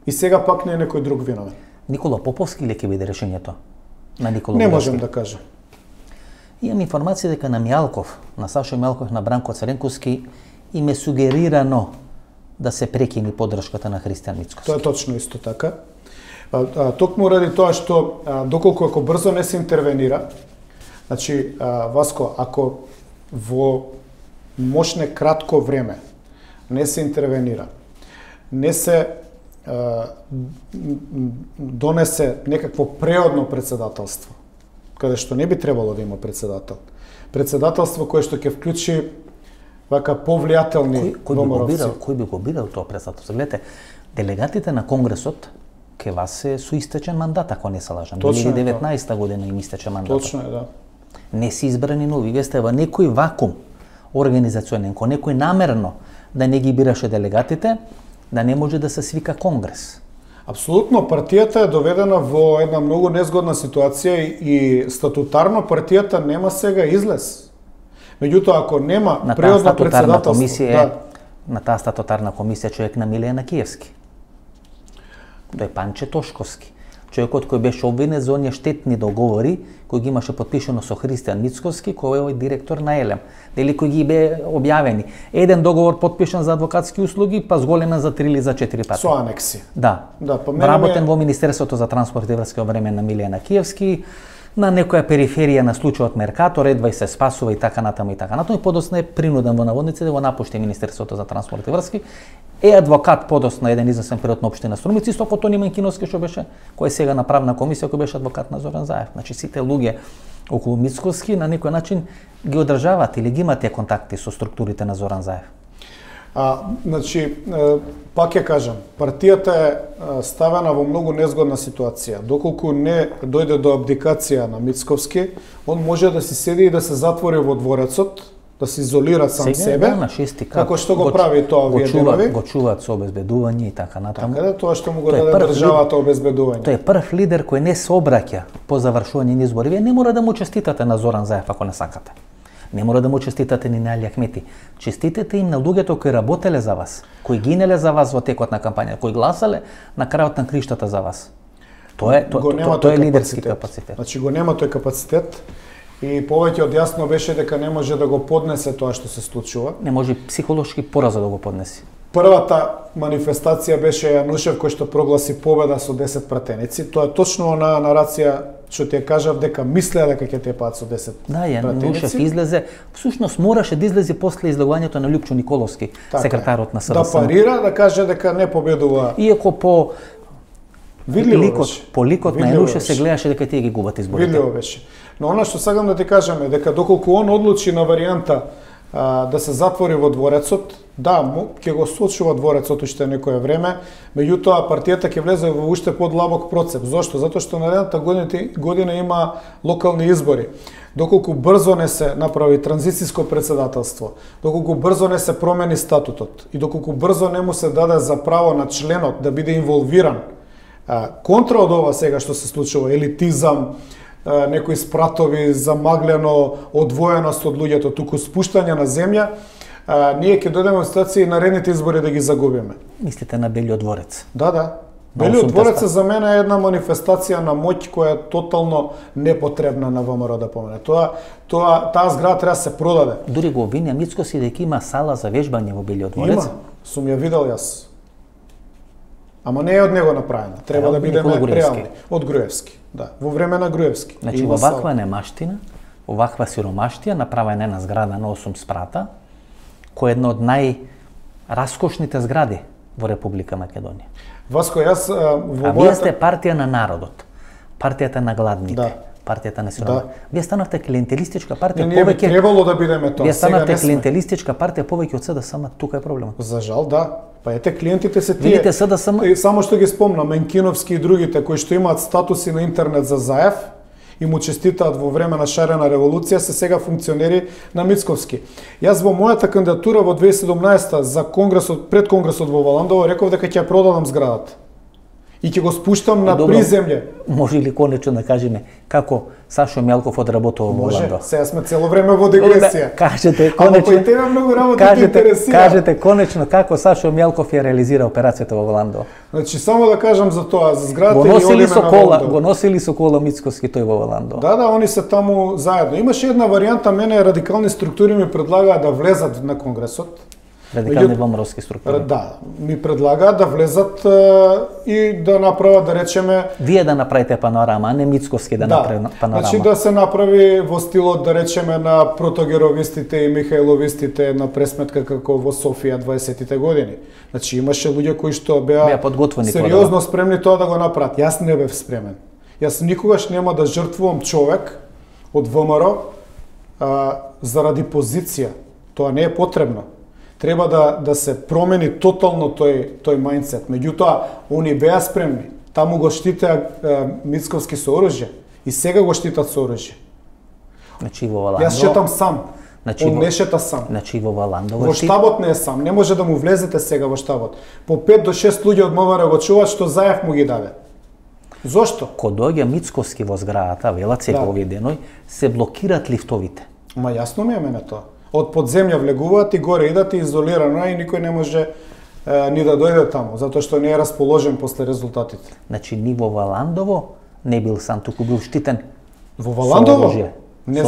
И сега пак не е некој друг виновен. Никола Поповски или ќе биде решението на Никола Не Будовски? можем да кажем. Имам информација дека на Мјалков, на Сашо Мјалков, на Бранко Царенковски им е сугерирано да се прекини поддршката на Христијан Мицкоски. Тоа е точно исто така. Токму ради тоа што доколку ако брзо не се интервенира, значи Васко, ако во мошне кратко време не се интервенира, не се донесе некакво преодно председателство, каде што не би требало да има председател. Председателство кое што ќе вклучи вака повлијателни доморовци. Кој би го бирал тоа председателство? Гледате, делегатите на Конгресот ке вас се со истечен мандат, ако не се лажам. 2019 година им истече мандат. Точно е, да. Не си избрани нови. Вие сте во некој вакуум организационен, некој намерно да не ги бираше делегатите, да не може да се свика Конгрес. Апсолутно, партијата е доведена во една многу незгодна ситуација и статутарно партијата нема сега излез. Меѓутоа, ако нема преодно председателство... На таа статутарна комисија човек на Милија Накиевски. Тој Панче Тошковски. Човекот кој беше обвинет за оние штетни договори, кои ги имаше подпишано со Христијан Мицкоски, кој е директор на Елем. Дели кои ги бе објавени. Еден договор подпишан за адвокатски услуги, па зголемен за 3 или за 4 пати. Со анекси. Да. Вработен во Министерството за транспорт и врски во време на Милија Накиевски, на некоја периферија на случајот Меркатор, едва и се спасува и така натаму и така натаму, и подоцна е принуден во наводниците да го напушти Министерството за транспорт и врски. Е адвокат подоцна еден известен период на општина Струмица, исто како Тони Манкиновски што беше, кој е сега на правна комисија, кој беше адвокат на Зоран Заев. Значи сите луѓе околу Мицкоски на некој начин ги одржаваат или ги имаат тие контакти со структурите на Зоран Заев. Значи, пак ќе кажам, партијата е ставена во многу незгодна ситуација. Доколку не дојде до абдикација на Мицковски, он може да си седи и да се затвори во дворецот, да се изолира сам себе, на шести кат, како што го прави тоа овие денови. Го чуваат со обезбедување и така натаму. Така да, тоа што му го даде државата обезбедување. Тој е прв лидер кој не се обраќа по завршување на избори. Вие не мора да му честитате на Зоран Заев ако не сакате. Не мора да му честитате ни на Али Ахмети. Честитете им на луѓето кои работеле за вас, кои гинеле за вас во текот на кампања, кои гласале на крајот на криштата за вас. Тоа е лидерски капацитет. Значи го нема тој капацитет и повеќе од јасно беше дека не може да го поднесе тоа што се случува. Не може психолошки пораза да го поднеси. Првата манифестација беше Јанушев кој што прогласи победа со 10 пратеници. Тоа е точно на нарација што ти ја кажав дека мислеа дека ќе тепаат со 10 пратеници. Да, Јанушев излезе, всушност мораше да излезе после излегувањето на Лјупчо Николовски, секретарот на СДСМ. Да парира, да каже дека не победува. Иако по ликот на Јанушев се гледаше дека тие ги губат изборите. Видливо беше. Но она што сакам да ти кажам е дека доколку он одлучи на варијанта да се затвори во дворецот, да, ќе го сочува дворецот уште некое време, меѓутоа партијата ќе влезе во уште подлабок процеп. Зошто? Затоа што наредната година има локални избори. Доколку брзо не се направи транзициско председателство, доколку брзо не се промени статутот и доколку брзо не му се даде за право на членот да биде инволвиран контра од ова сега што се случува, елитизам, некои спратови, замаглено одвоеност од луѓето, туку спуштање на земја, ние ќе дојдеме во ситуација и наредните избори да ги загубиме. Мислите на Белиот дворец? Да. Белиот дворец за мене е една манифестација на моќ која е тотално непотребна на ВМРО да помене. Таа зграда треба да се продаде. Дури го обвинија Мицкоски дека има сала за вежбање во Белиот дворец. Има, сум ја видел јас. Ама не е од него направена. Треба да бидеме Никола Груевски. реални. Од Груевски, да. Во време на Груевски. Значи, Има оваква немаштина, оваква сиромаштија, направена една зграда на 8 спрата, која е една од најраскошните згради во Република Македонија. Васко, јас во вие сте партија на народот, партијата на гладните, Да. партијата на сиромашните. Вие станавте клиентелистичка партија Не, ние би повеќе. требало да бидеме тоа. Вие Сега станавте не сме. клиентелистичка партија повеќе од СДСМ, тука е проблемот. За жал, да. Па ете, клиентите се тие. Видите, СДСМ... И само што ги спомнам, Менкиновски и другите кои што имаат статуси на интернет за Заев и му честитаат во време на шарена револуција, се сега функционери на Мицковски. Јас во мојата кандидатура во 2017 за конгресот, пред конгресот во Валандово, реков дека ќе ја продадам зградата. И ќе го спуштам на приземје. Може ли конечно да кажеме како Сашо Мјалков одработува во Валандово? Може, сега сме цело време во дегресија. Кажете Ама конечно. па и тебе многу работа те интересира. Кажете конечно како Сашо Мјалков ја реализира операцијата во Валандово. Значи само да кажам за тоа, за зградата Го и носили одиме со на кола, Валандово. го носили со кола Мицковски тој во Валандово. Да, да, они се таму заедно. Имаше една варијанта, мене радикални структури ми предлагаа да влезат на конгресот. Радикални ВМРО-ски структури. Да, ми предлагаат да влезат и да направат, да речеме... Вие да направите панорама, а не Мицковски да направи панорама. Значи да се направи во стилот, да речеме, на протогеровистите и Михајловистите на пресметка како во Софија 20-тите години. Значи имаше луѓе кои што беа подготвени сериозно спремни тоа да го направат. Јас не бев спремен. Јас никогаш нема да жртвувам човек од ВМРО заради позиција. Тоа не е потребно. Треба да се промени тотално тој мајндсет. Меѓутоа, они беа спремни. Таму го штитеа Мицковски со оружје и сега го штитат со оружје. Значи во Валандово. Јас шетам сам. Значи, Он не шета сам. Значи во Валандово. Во штабот не е сам. Не може да му влезете сега во штабот. По 5 до 6 луѓе од МВР го чуваат што Заев му ги даде. Зошто? Кога доаѓа Мицковски во зградата, велат сега овие деној, се блокираат лифтовите. Ма јасно ми е мене тоа. Од подземја влегуваат и горе идат и изолирано и никој не може ни да дојде таму, затоа што не е расположен после резултатите. Значи ни во Валандово не бил сам, туку бил штитен. Во Валандово? Со оружје. Не,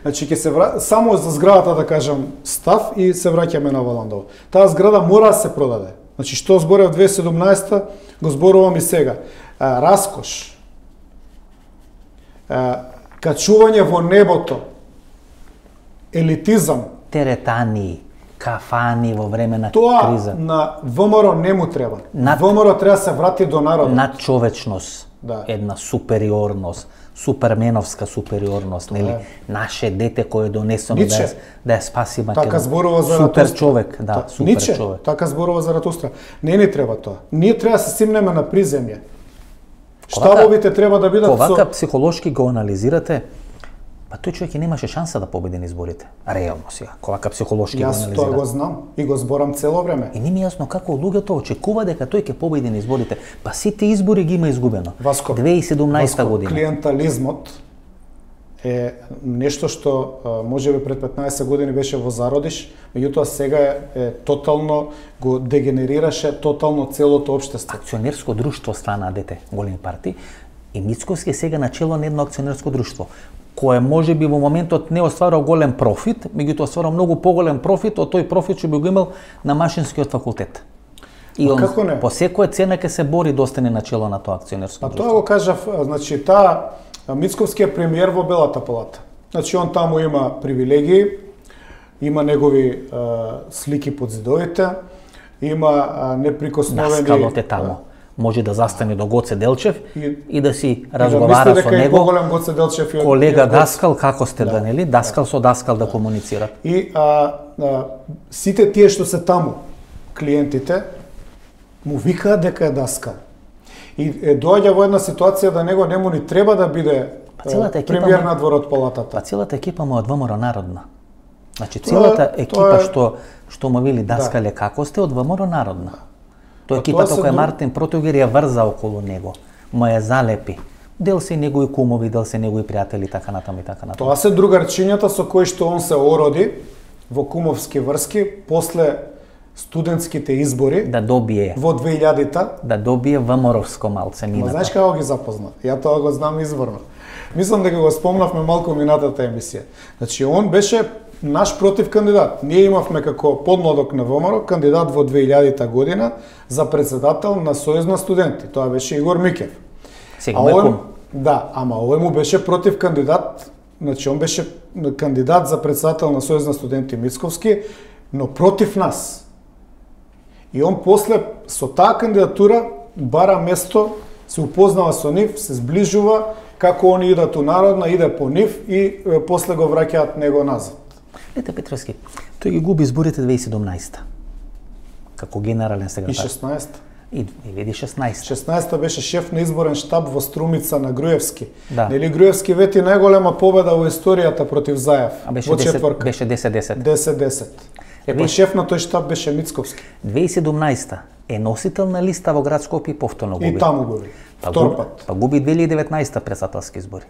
значи ќе се само за зградата да кажам став и се враќаме на Валандово. Таа зграда мора да се продаде. Значи што зборев 2017 го зборувам и сега. Раскош. Качување во небото. Елитизам. Теретани, кафани во време на Тоа криза. на ВМРО не му треба. ВМРО треба да се врати до народот. Надчовечност, Да. една супериорност, суперменовска супериорност, нели? Наше дете кое е донесено да ја спаси Македонија. Така зборува за супер човек, да, супер Ниче, човек. така зборува за Ратустра. Не ни треба тоа. Ние треба да се симнеме на приземје. Штабовите треба да бидат Овака психолошки го анализирате, па тој човек и немаше шанса да победи на изборите. Реално сега, овака психолошки го Јас анализирате. тоа го знам и го зборам цело време. И не ми е јасно како луѓето очекува дека тој ќе победи на изборите. Па сите избори ги има изгубено. Васко, 2017 година. Клиентализмот е нешто што можеби пред 15 години беше во зародиш, меѓутоа сега е тотално го дегенерираше тотално целото општество. Акционерско друштво стана дете големи партии и Мицковски е сега начело на едно акционерско друштво кое можеби во моментот не остварува голем профит, меѓутоа остварува многу поголем профит од тој профит што би го имал на машинскиот факултет. И он по секоја цена ќе се бори да остане начело на тоа акционерско друштво. Тоа го кажав, значи Мицковски е премиер во Белата палата. Значи он таму има привилегии, има негови слики под зидовите, има неприкосновени... Даскалот е таму. Може да застане до Гоце Делчев и да си разговара со него. Поголем Гоце Делчев и колега Даскал, како сте да, нели? Даскал со Даскал да комуницира. И сите тие што се таму, клиентите, му викаат дека е Даскал. И доаѓа во една ситуација да него нему ни треба да биде премиер на дворот палатата. Па целата екипа му од ВМРО народна. Значи целата екипа што му вели Даскале како сте од ВМРО народна. Тоа екипата која Мартин Протогер ја врза околу него, му ја залепи. Дел се негови кумови, дел се негови пријатели, така натаму и така натаму. Тоа се другарчињата со кои што он се ороди во кумовски врски после студентските избори да добие во 2000-та, да добие ВМРО-вско малценината. Знаеш како ги запозна? Ја тоа го знам изворно. Мислам дека го спомнавме малку минатата емисија. Значи он беше наш против кандидат. Ние имавме како подмладок на ВМРО кандидат во 2000 година за председател на Сојуз на студенти. Тоа беше Игор Микев. Сега му да, ама овој му беше против кандидат, значи он беше кандидат за председател на Сојуз на студенти Мицковски, но против нас. И он после со таа кандидатура бара место, се упознава со нив, се сближува, како они идат у Народна, иде по нив и после го враќаат него назад. Ете Петровски, тој ги губи изборите 2017 како генерален секретар. И 16. И 2016. 16-та беше шеф на изборен штаб во Струмица на Груевски. Да. Нели Груевски вети најголема победа во историјата против Заев. Беше во четвртка. Беше 10-10. 10-10. Па шеф на тој штаб беше Мицковски. 2017 е носител на листа во град Скопје и повторно губи. И таму губи. Втор пат. Па губи 2019 председателски избори.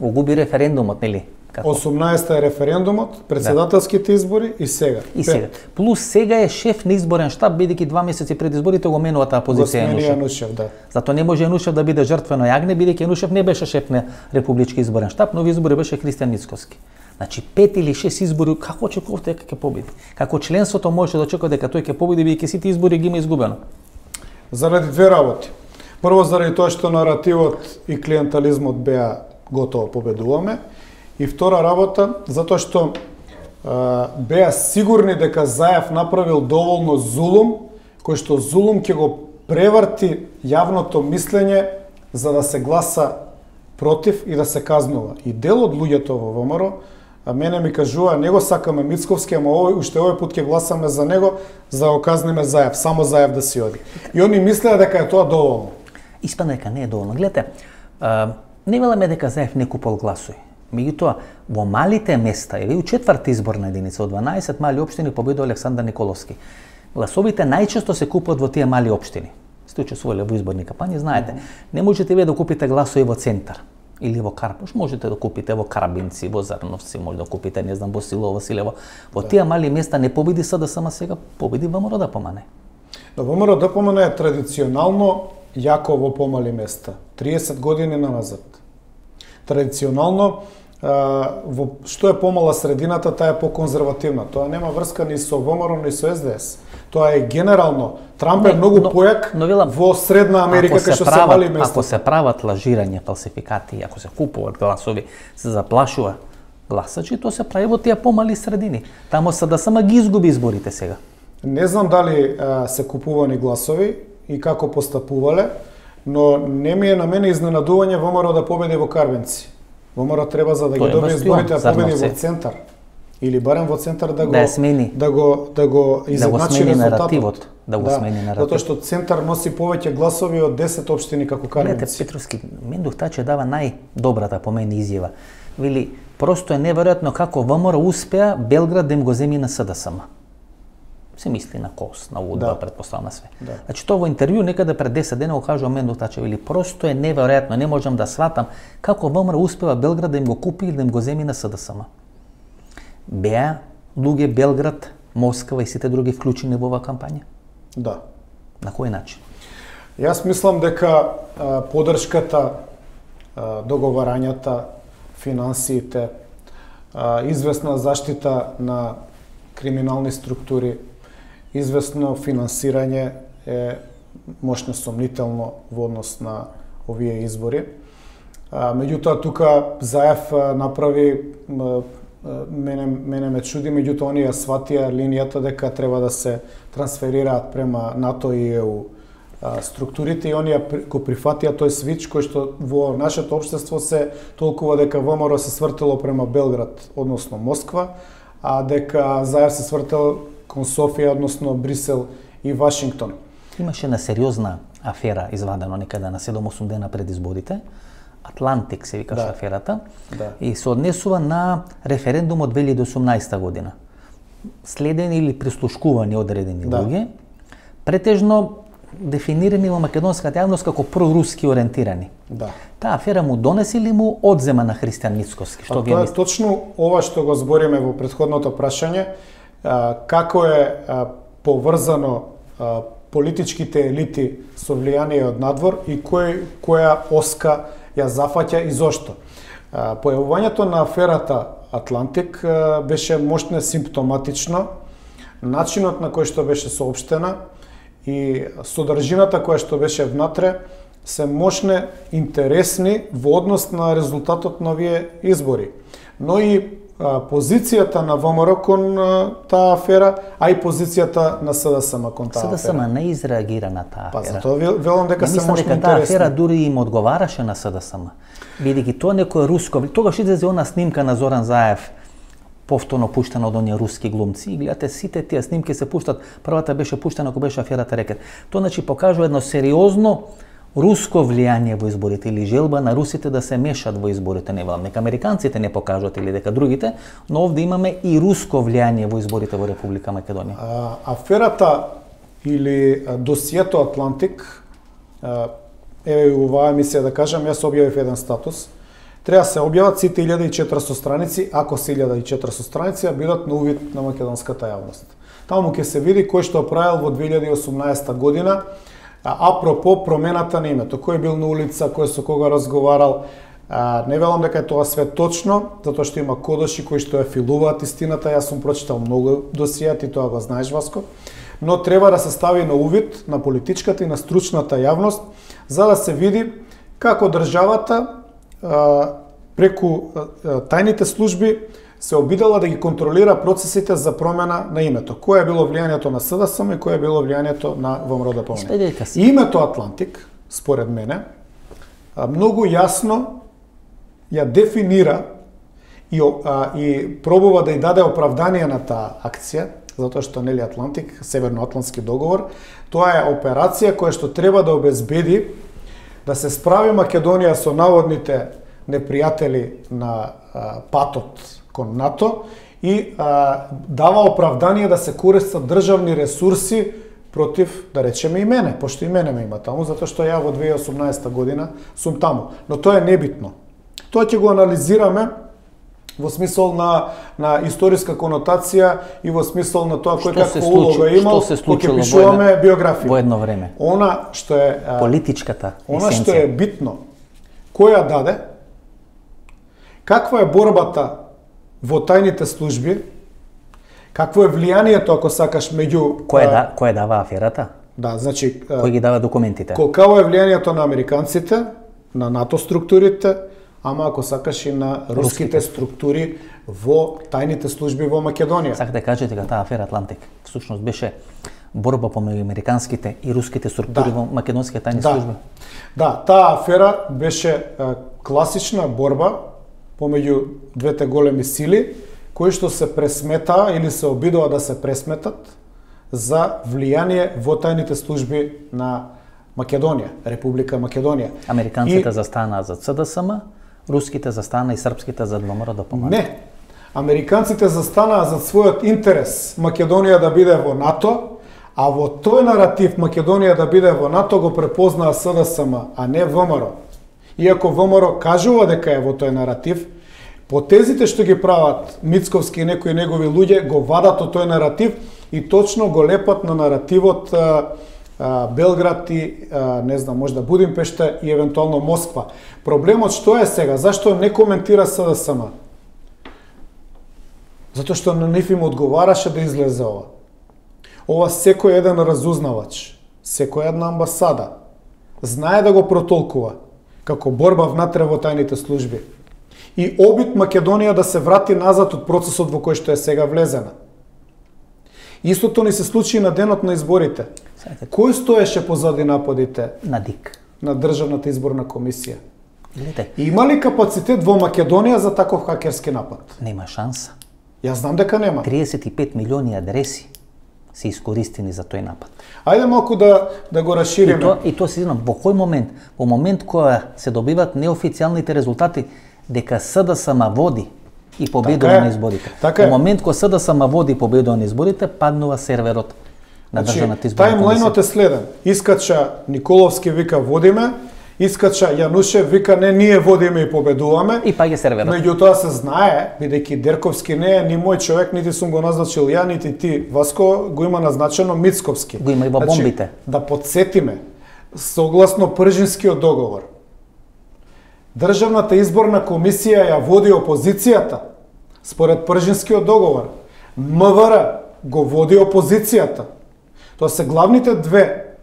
Го губи референдумот, нели? 18-та е референдумот, председателските избори и сега. И сега. Плюс сега е шеф на изборен штаб, бидејќи 2 месеци пред изборите го менува таа позиција Јанушев. Да. Затоа не може Јанушев да биде жртвено јагне, бидејќи Јанушев не беше шеф на републички изборен штаб, но во избори беше Христијан Мицковски. Значи 5 или 6 избори, како очекувате дека ќе победи? Како членството може да очекува дека тој ќе победи, бидејќи сите избори ги има изгубено? Заради две работи. Прво заради тоа што наративот и клиентализмот беа готово победуваме. И втора работа, затоа што беа сигурни дека Заев направил доволно зулум, кој што зулум ќе го преврти јавното мислење за да се гласа против и да се казнува. И дел од луѓето во ВМРО, мене ми кажува, не го сакаме Мицковски, ама уште овој пат ќе гласаме за него, за да го казниме Заев, само Заев да си оди. И они мислеа дека е тоа доволно. Испадна дека не е доволно. Гледате, не веламе дека Заев не купал гласови. Меѓутоа, во малите места, еве у четврта изборна единица, од 12 мали општини победува Александар Николовски. Гласовите најчесто се купуваат во тие мали општини. Сте учествувале во изборни кампањи, знаете. Не можете вие да купите гласови во центар или во Карпуш, можете да купите во Карабинци, во Зарновци, може да купите, не знам, во Силово, Василево. Во тие мали места не победи СДСМ, сега победи ВМРО ДПМН. Но ВМРО ДПМН е традиционално јако во помали места. 30 години назад. Традиционално што е помала средината, таа е поконзервативна. Тоа нема врска ни со ВМРО, ни со СДС. Тоа е генерално. Трамп е многу појак во Средна Америка, кај што се мали места. Ако се прават лажирање, фалсификати, ако се купуваат гласови, се заплашува гласачи, тоа се прави во тие помали средини. Тамо СДСМ ги изгуби изборите сега. Не знам дали се купувани гласови и како постапувале, но не ми е на мене изненадување ВМРО да победи во Карвенци. ВМРО треба за да ги добие изборите да победи во центар. Или барем во центар да го смени, да го изедначи резултатот. Да го смени наративот. Затоа што центар носи повеќе гласови од 10 општини како Карвенци. Гледате, Петровски, Мендух Таче дава најдобрата по мене изјава. Вели, просто е неверојатно како ВМРО успеа Белград да им го земи на СДСМ. Се мисли на КОС, на УДБА, предпоставам све. Да. Значи, тоа во интервју некаде пред 10 дена го кажува Мендух Таче, вели, просто е неверојатно, не можам да сватам како ВМРО успева Белград да им го купи или да им го земи на СДСМ. Беа луѓе Белград, Москва и сите други вклучени во оваа кампања? Да. На кој начин? Јас мислам дека поддршката, договарањата, финансиите, известна заштита на криминални структури, известно финансирање е мощно сомнително во однос на овие избори. Меѓутоа, тука Заев направи, мене ме чуди, меѓутоа они ја сватија линијата дека треба да се трансферираат према НАТО и ЕУ структурите и они го прифатија тој свич кој што во нашето општество се толкува дека ВМРО се свртело према Белград, односно Москва, а дека Заев се свртел кон Софија, односно Брисел и Вашингтон. Имаше на сериозна афера извадено некаде на 7-8 дена пред изборите. Атлантик се викаше аферата. Да. И се однесува на референдум од 2018 година. Следени или прислушкувани одредени луѓе, претежно дефинирани во македонската јавност како проруски ориентирани. Да. Таа афера му донесе или му одзема на Христијан Мицковски? Што вие мислите? Точно ова што го збориме во претходното прашање, како е поврзано политичките елити со влијание од надвор и која оска ја зафаќа и зошто. Појавувањето на аферата Атлантик беше мощно симптоматично начинот на кој што беше соопштена и содржината која што беше внатре се мощне интересни во однос на резултатот на овие избори. Но и позицијата на ВМРО кон таа афера, а и позицијата на СДСМ кон таа афера. СДСМ не изреагира на таа афера. Па затоа велам дека се мощно интересни. Таа афера дури им одговараше на СДСМ. Бидејќи тоа некој руско, тогаш излезе она снимка на Зоран Заев, повторно пуштена од оние руски глумци. И гледате, сите тие снимки се пуштат. Првата беше пуштена кога беше аферата Рекет. Тоа значи покажува едно сериозно руско влијание во изборите или желба на русите да се мешат во изборите. Не велам, нека американците не покажат или дека другите, но овде имаме и руско влијание во изборите во Република Македонија. Аферата или досието Атлантик, еве оваа емисија да кажам, јас објавив еден статус. Треба се објават сите 1400 страници, ако се 1400 страници, а бидат на увид на македонската јавност. Таму ќе се види кој што правил во 2018 година, апропо промената на името, кој бил на улица, кој со кога разговарал. Не велам дека е тоа све точно, затоа што има кодоши кои што ја филуваат истината. Јас сум прочитал многу досија, ти тоа го знаеш, Васко. Но треба да се стави на увид на политичката и на стручната јавност, за да се види како државата преку тајните служби се обидела да ги контролира процесите за промена на името. Кое е било влијанието на СДСМ и кое е било влијанието на ВМРО да помне. Името Атлантик, според мене, многу јасно ја дефинира и пробува да ја даде оправдание на таа акција, затоа што нели Атлантик, Северноатлантски договор, тоа е операција која што треба да обезбеди да се справи Македонија со наводните непријатели на патот кон НАТО и дава оправдание да се користат државни ресурси против, да речеме, и мене, пошто и мене ме има таму, затоа што ја во 2018 година сум таму. Но тоа е небитно. Тоа ќе го анализираме во смисол на историска конотација и во смисол на тоа кој каква улога имал, кога ќе пишуваме биографија. Во едно време. Она што е политичката есенција. Она што е битно, која даде, каква е борбата во тајните служби, какво е влијанието, ако сакаш, меѓу... Кој дава аферата? Да, значи... Кој ги дава документите? Какво е влијанието на американците, на НАТО структурите, ама ако сакаш и на руските структури во тајните служби во Македонија. Сакате да кажете дека таа афера Атлантик всушност беше борба помеѓу американските и руските структури во македонските тајни служби? Да, таа афера беше класична борба помеѓу двете големи сили, кои што се пресметаа или се обидува да се пресметат за влијание во тајните служби на Македонија, Република Македонија. Американците застанаа за СДСМ, руските застанаа и српските за ВМРО да помагат. Не. Американците застанаа за својот интерес Македонија да биде во НАТО, а во тој наратив Македонија да биде во НАТО го препознаа СДСМ, а не ВМРО. Иако ВМРО кажува дека е во тој наратив, потезите што ги прават Мицковски и некои негови луѓе го вадат од тој наратив и точно го лепат на наративот Белград и, не знам, можда Будимпешта и евентуално Москва. Проблемот што е сега? Зашто не коментира СДСМ? Затоа што на нив им одговараше да излезе ова. Ова секој еден разузнавач, секоја една амбасада знае да го протолкува како борба внатре во тајните служби и обид Македонија да се врати назад од процесот во кој што е сега влезена. Истото ни се случи на денот на изборите. Кој стоеше позади нападите на ДИК, на Државната изборна комисија? Гледате. Има ли капацитет во Македонија за таков хакерски напад? Нема шанса. Јас знам дека нема. 35 милиони адреси се искористени за тој напад. Ајде малку да го расшириме. И тоа се знам, во кој момент? Во момент кога се добиват неофицијалните резултати дека СДСМ води и победува на изборите. Во момент кога СДСМ води и победува на изборите, паднува серверот на Државната изборна комисија. Тајмлајнот е следен. Искача Николовски вика водиме, искача Јанушев вика не, ние водиме и победуваме. И паѓа серверот. Меѓутоа се знае, бидејќи Дерковски не е ни мој човек, нити сум го назначил ја, нити ти, Васко, го има назначено Мицковски. Го има и во бомбите. Да подсетиме, согласно Пржинскиот договор, Државната изборна комисија ја води опозицијата, Според Пржинскиот договор, МВР го води опозицијата. Тоа се главните две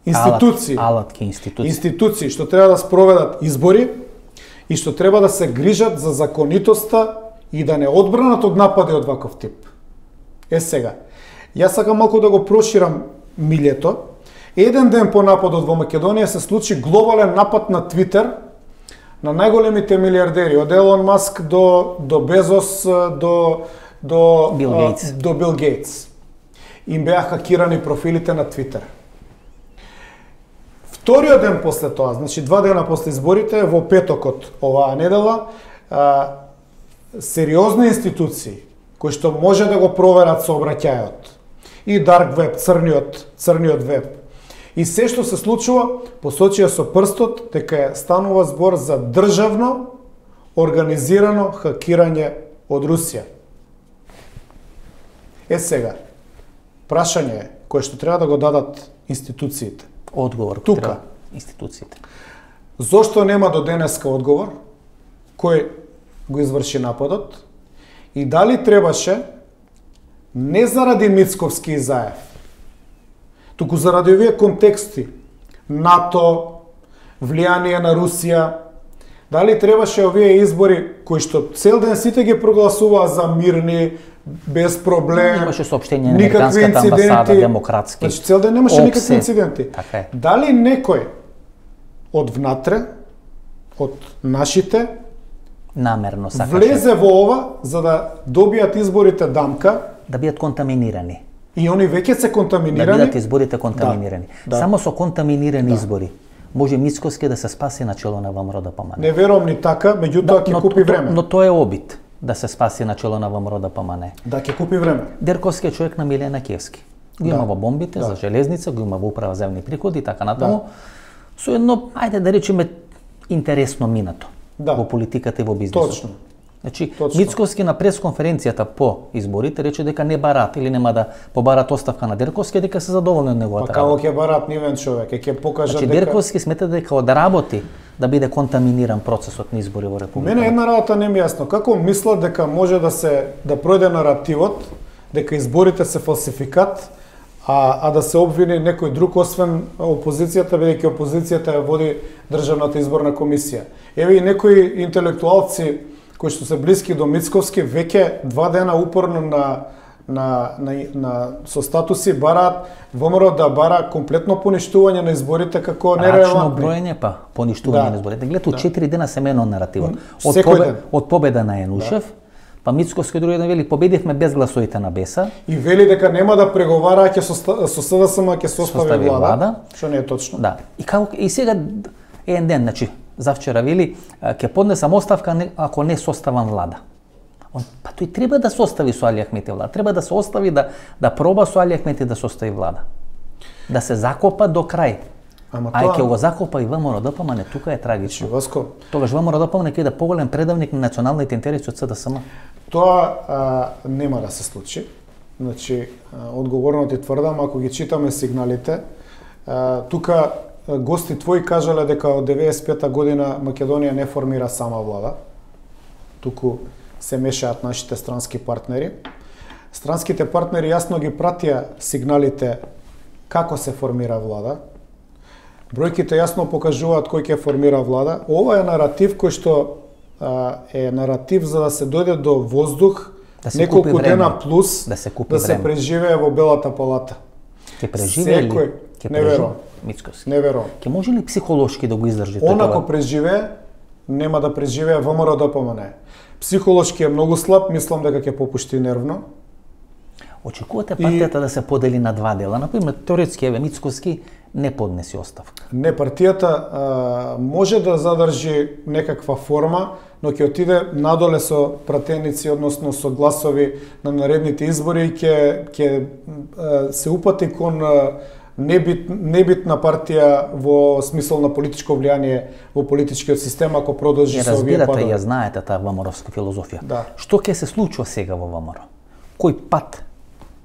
институции, алатки институции што треба да спроведат избори и што треба да се грижат за законитоста и да не одбранат од напади од ваков тип. Сега, јас сакам малку да го проширам милјето. Еден ден по нападот во Македонија се случи глобален напад на Твитер на најголемите милиардери, од Елон Маск до Безос, до Бил Гейтс. Им беа хакирани профилите на Твитер. Вториот ден после тоа, значи 2 дена после изборите, во петокот оваа недела, сериозни институции кои што може да го проверат сообраќајот и дарк веб, црниот веб, и се што се случува, посочија со прстот дека станува збор за државно организирано хакирање од Русија. Сега, прашање кое што треба да го дадат институциите. Одговор тука институциите. Зошто нема до денеска одговор кој го изврши нападот и дали требаше не заради Мицковски и Заев, туку заради овие контексти, НАТО, влијание на Русија, дали требаше овие избори кои што цел ден сите ги прогласуваа за мирни, без проблем, имаше соопштение на американската амбасада, демократски. Значи цел ден немаше никакви инциденти. Дали некој од внатре, од нашите, намерно сакаше влезе во ова за да добијат изборите дамка, да бидат контаминирани. И они веќе се контаминирани. Да бидат изборите контаминирани. Да. Само со контаминирани избори може Мицковски да се спаси на чело на ВМРО ДПМН. Не верувам ни така, меѓутоа ќе купи време. Но тоа е обид да се спаси на чело на ВМРО ДПМН. Да, ќе купи време. Дерковски е човек на Милена Кевски. Го има во бомбите за железница, го има во управа земни приходи и така натаму. Со едно, ајде да речеме, интересно минато во политиката и во бизнисот. Точно. Значи, Мицковски на пресконференцијата по изборите рече дека не барат или нема да побарат оставка на Дерковски, дека се задоволни од неговата работа. Па како ќе барат нивен човек, ќе покажат дека... Дерковски смета дека одработи да биде контаминиран процесот на избори во Република. Мене една работа не ми е јасно. Како мислат дека може да пројде наративот дека изборите се фалсификат, а да се обвини некој друг освен опозицијата, бидејќи опозицијата ја води Државната изборна комисија. Еве и некои интелектуалци кои што се блиски до Мицковски веќе 2 дена упорно со статуси бараат ВМРО да бара комплетно поништување на изборите како нерелевантни. Рачно броење па поништување на изборите. Гледате, 4 дена се менува наративот. Од победа на Енушев, па Мицковски други ден вели победивме без гласовите на Беса. И вели дека нема да преговара ќе со СДСМ ќе состави влада, што не е точно. Да. И сега еден ден, значи завчера вели ќе поднесам оставка ако не составам влада. Па тој треба да состави со Али Ахмети влада. Треба да се остави да проба со Али Ахмети да состави влада. Да се закопа до крај. Ај ќе го закопа и ВМРО ДПМН, тука е трагично. Васко. Тогаш ВМРО ДПМН ќе да поголем предавник на националните интереси од СДСМ. Тоа нема да се случи. Значи, одговорно ти тврдам, ако ги читаме сигналите, тука гости твои кажале дека од 95-та година Македонија не формира сама влада, туку се мешаат нашите странски партнери. Странските партнери јасно ги пратија сигналите како се формира влада. Бројките јасно покажуваат кој ќе формира влада. Ова е наратив кој што е наратив за да се дојде до воздух, неколку дена плюс, да се преживее во Белата палата. Ќе преживее ли? Не верувам. Мицковски. Не верувам. Ќе може ли психолошки да го издржи тоа? Онако преживее, нема да преживее ВМРО ДПМН. Психолошки е многу слаб, мислам дека ќе попушти нервно. Очекувате партијата да се подели на 2 дела? Например, теоретски еве Мицковски не поднеси оставка. Не, партијата може да задржи некаква форма, но ќе отиде надоле со пратеници, односно со гласови на наредните избори и ќе се упати кон небитна партија во смисол на политичко влијание во политичкиот систем ако продолжи со овие падови. Разбирате, ја знаете таа ВМРО-вска филозофија. Да. Што ќе се случува сега во ВМРО? Кој пат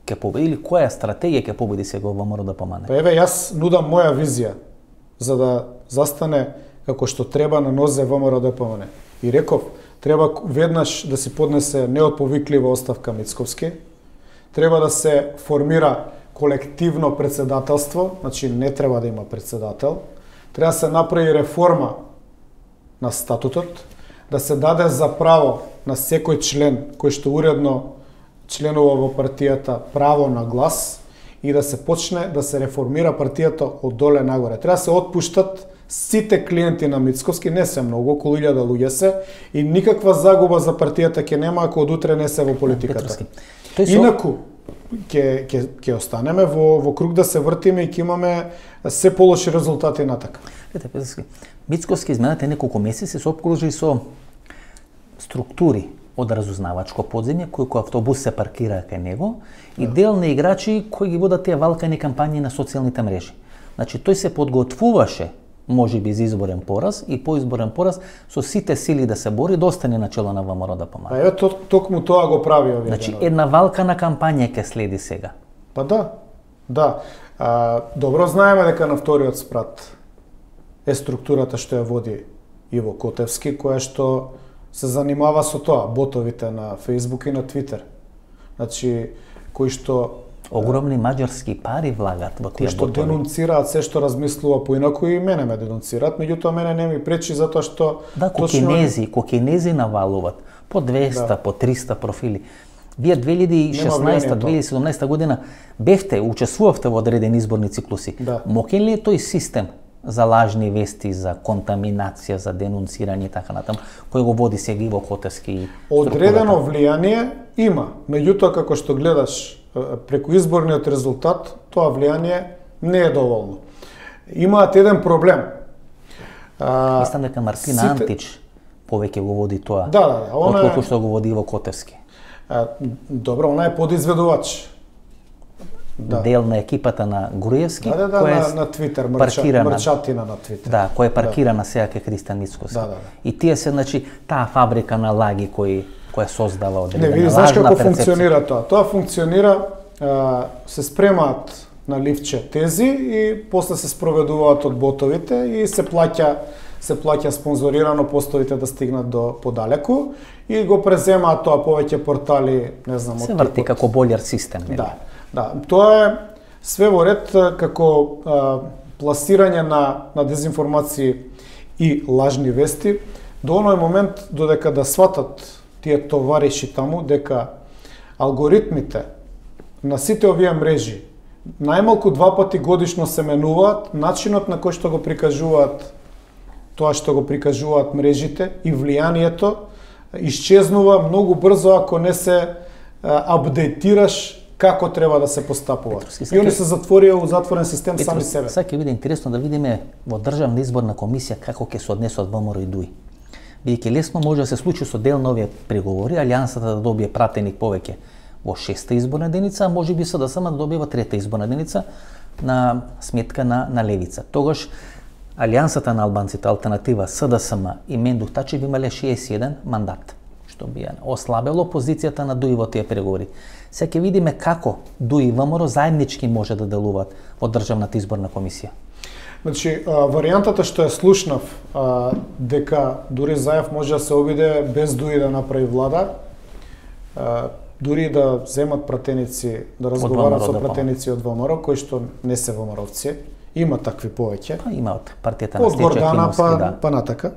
ќе победи или која стратегија ќе победи сега во ВМРО ДПМН? Па еве јас нудам моја визија за да застане како што треба на нозе ВМРО ДПМН. И реков, треба веднаш да се поднесе неотповиклива оставка Мицковски, треба да се формира колективно председателство, значи не треба да има председател, треба да се направи реформа на статутот, да се даде за право на секој член кој што уредно членува во партијата право на глас и да се почне да се реформира партијата од доле нагоре. Треба да се отпуштат сите клиенти на Мицковски, не се многу, околу 1000 луѓе се, и никаква загуба за партијата ќе нема ако од утре не се во политиката. Инаку, ќе останеме во круг да се вртиме и ќе имаме се полоши резултати натака. Петровски, Мицковски изминатите неколку месеци се обкружи со структури од разузнавачко подземје, кои автобус се паркираа кај него, и дел на играчи кои ги водат тие валкани кампањи на социјалните мрежи. Значи, тој се подготвуваше, може би, за изборен пораз и по изборен пораз со сите сили да се бори, да остане на чело на ВМРО да помага. Па еве токму тоа го прави овие. Значи, една валкана кампања ќе следи сега. Па да. Добро знаеме дека на вториот спрат е структурата што ја води Иво Котевски, која што се занимава со тоа, ботовите на Facebook и на Twitter. Значи, кои што огромни маđarски пари влагат во тие ботови. Кои што денунцираат се што размислува поинаку, и мене ме денунцираат, меѓутоа мене не ми пречи затоа што да, кокинези навалуваат по 200, по 300 профили. Вие 2016-2017 година бевте, учествувавте во одредени изборни циклуси. Да. Мокен ли е тој систем за лажни вести, за контаминација, за денунцирање и така натаму, кој го води сега Иво Котевски? Одредено влијание има, меѓутоа како што гледаш преку изборниот резултат, тоа влијание не е доволно. Имаат еден проблем. Мислам дека Мартина Антич повеќе го води тоа, отколку што го води Иво Котевски. Добро, она е подизведувач. Дел на екипата на Груевски, која е на Твитер, мрчатина на Твитер. Да, која е паркирана сега кај Христијан Мицковски. И тие се, значи, таа фабрика на лаги која создава одредена лажна перцепција. Не, види, знаеш како функционира тоа? Тоа функционира, се спремаат на ливче тези и после се спроведуваат од ботовите и се плаќа спонзорирано постовите да стигнат до подалеку и го преземаат тоа повеќе портали, не знам, се врти како болјар систем. Да, тоа е све во ред како пласирање на дезинформации и лажни вести до оној момент додека да сватат тие товариши таму дека алгоритмите на сите овие мрежи најмалку 2 пати годишно се менуваат, начинот на кој што го прикажуваат тоа што го прикажуваат мрежите и влијанието исчезнува многу брзо ако не се апдейтираш како треба да се постапува. И они се затворија у затворен систем сами себе. Сега ќе биде интересно да видиме во Државна изборна комисија како ќе се однесат ВМРО и ДУИ. Бидејќи лесно може да се случи со дел на овие преговори, Алијансата да добие пратеник повеќе во 6-та изборна единица, а може би СДСМ да добива 3-та изборна единица на сметка на левица. Тогаш Алијансата на албанците, алтернатива СДСМ и Мендух Тачи би имале 61 мандат, што би ослабело позицијата на ДУИ во тие преговори. Сега ќе видиме како ДУИ и ВМРО заеднички може да делуваат во Државната изборна комисија. Значи, варијантата што ја слушнав, дека дури Заев може да се обиде без ДУИ да направи влада, дури да земат пратеници, да разговарат со пратеници од ВМРО, кои што не се ВМРО-вци, има такви повеќе. Има од партијата на Стефче Кимовски, па натака.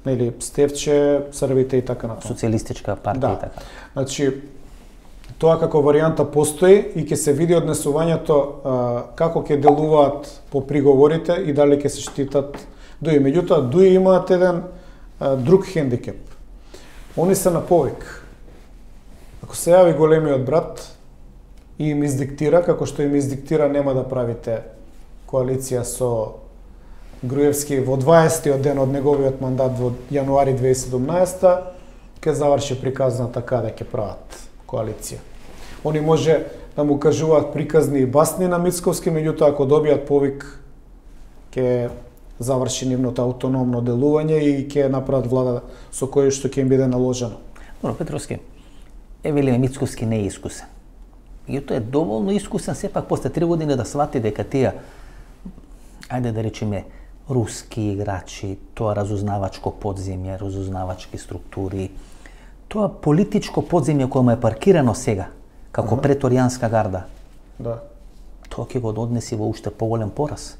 Или Стефче, Србите и така натаму. Социјалистичка партија и така. Значи, тоа како варијанта постои и ќе се види однесувањето како ќе делуваат по приговорите и дали ќе се штитат ДУИ. Меѓутоа, ДУИ имаат еден друг хендикеп. Они се на повик. Ако се јави големиот брат и им издиктира, како што им издиктира, нема да правите коалиција со Груевски во 20-тиот ден од неговиот мандат во јануари 2017, ќе заврши приказната каде ќе прават коалиција. Они може да му кажуваат приказни и басни на Мицковски, меѓутоа ако добијат повик, ќе заврши нивното автономно делување и ќе направат влада со кој што ќе им биде наложено. Добро, Петровски, велиме Мицковски не е искусен. Меѓутоа е доволно искусен сепак после 3 години да свати дека тие, ајде да речеме, руски играчи, тоа разузнавачко подземје, разузнавачки структури, тоа политичко подземје кое му е паркирано сега, како преторијанска гарда, Да. тоа ќе го однеси во уште поголем пораз,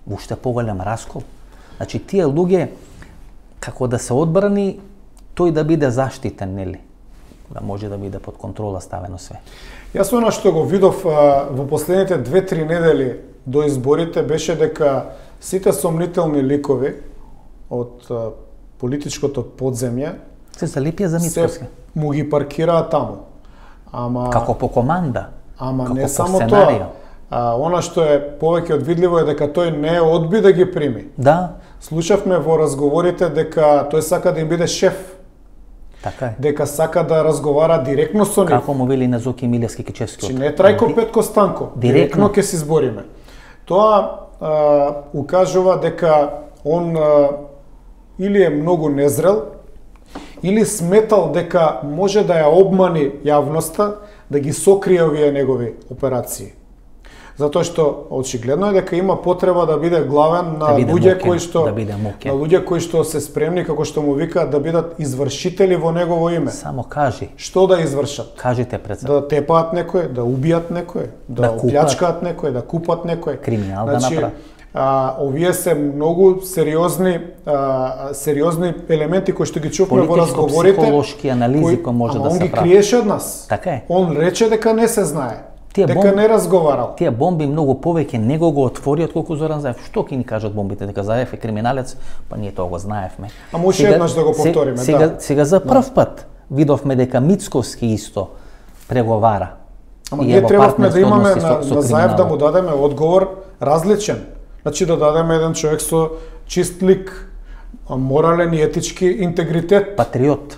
во уште поголем раскол. Значи, тие луѓе, како да се одбрани, тој да биде заштитен, нели? Да може да биде под контрола ставено све. Јас она што го видов во последните 2-3 недели до изборите беше дека сите сомнителни ликови од политичкото подземје Се залепија за се Мицковски. му ги паркираат таму. Ама Како по команда, Ама како не по само сценарио. тоа. Она што е повеќе одвидливо е дека тој не одби да ги прими. Да, Слушавме во разговорите дека тој сака да им биде шеф, така е. дека сака да разговара директно со нив. Како му вели на Зоки Милевски Кичевски. Че не Трајко Петко Станко, директно ќе се избориме. Тоа укажува дека он или е многу незрел, или сметал дека може да ја обмани јавноста, да ги сокрие овие негови операции. Затоа што очигледно е дека има потреба да биде главен на биде луѓе мукен, кои што да биде мукен. на луѓе кои што се спремни, како што му викаат, да бидат извршители во негово име. Само кажи, Што да извршат? кажите председател. Да тепаат некој, да убијат некој, да Да купат. оплячкаат некој, да купат некој. Криминал да направат. Овие се многу сериозни елементи кои што ги чувме во разговорите. Политичко-психолошки анализи кои може да Он се ги прави. криеше од нас. Така е. Он рече дека не се знае. Тие Дека не разговарал. Тие бомби многу повеќе него го отвори отколку Зоран Заев. Што ќе ни кажат бомбите дека Заев е криминалец? Па ние тоа го знаевме. Ама уште еднаш да го повториме, Сега за прв пат видовме дека Мицковски исто преговара. Ама И ние е во требавме да партнерски имаме односи на со Заев да криминалот. му дадеме одговор различен. Значи да дадеме еден човек со чист лик, морален и етички интегритет. Патриот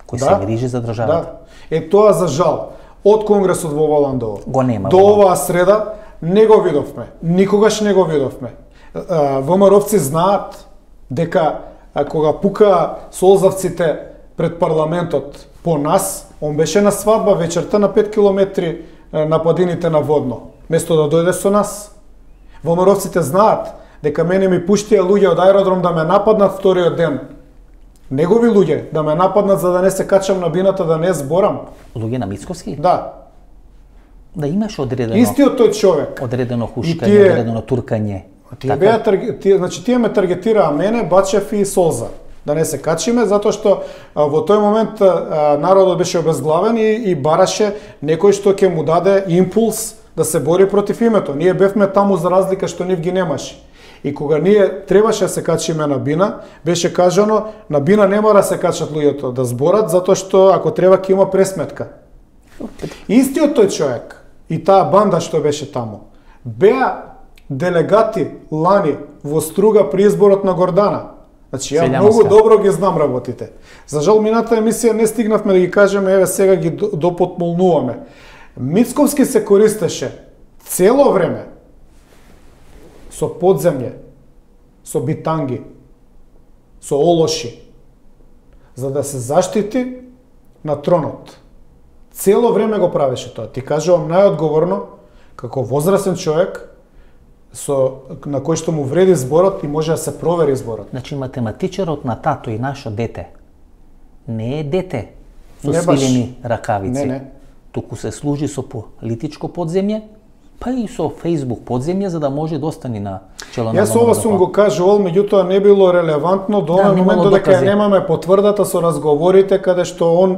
кој се грижи за државата. Да. Тоа за жал. Од Конгресот во Воландово Го нема. до оваа среда не го видовме. Никогаш не го видовме. ВМРО-вци знаат дека кога пука солзавците пред парламентот по нас, он беше на свадба вечерта на 5 километри на падините на Водно, место да дојде со нас. ВМРО-вците знаат дека мене ми пуштија луѓе од аеродром да ме нападнат вториот ден. Негови луѓе да ме нападнат за да не се качам на бината, да не зборам. Луѓе на Мицковски? Да. Да имаш одредено. Истиот тој човек. Одредено хушкање, тие- одредено туркање. Тие беа значи тие ме таргетираа мене, Бачев и Солза. Да не се качиме затоа што во тој момент народот беше обезглавен и бараше некој што ќе му даде импулс да се бори против името. Ние бевме таму за разлика што нив ги немаше. И кога ние требаше да се качиме на бина, беше кажано на бина не мора да се качат луѓето да зборат затоа што ако треба ќе има пресметка. Истиот тој човек и таа банда што беше таму беа делегати лани во Струга при изборот на Гордана. Значи ја многу добро ги знам работите. За жал мината емисија не стигнавме да ги кажеме, еве сега ги допотмолнуваме. Мицковски се користеше цело време со подземје, со битанги, со олоши, за да се заштити на тронот. Цело време го правеше тоа. Ти кажувам најодговорно, како возрастен човек, на кој што му вреди зборот и може да се провери зборот. Значи математичарот на тато и нашо дете не е дете со не свилени ракавици. Не. Туку се служи со политичко подземје, па и со Facebook подземје за да може да остани на чело на. Јас ова сум го кажувал, меѓутоа не било релевантно до овој момент додека ја немаме потврдата со разговорите каде што он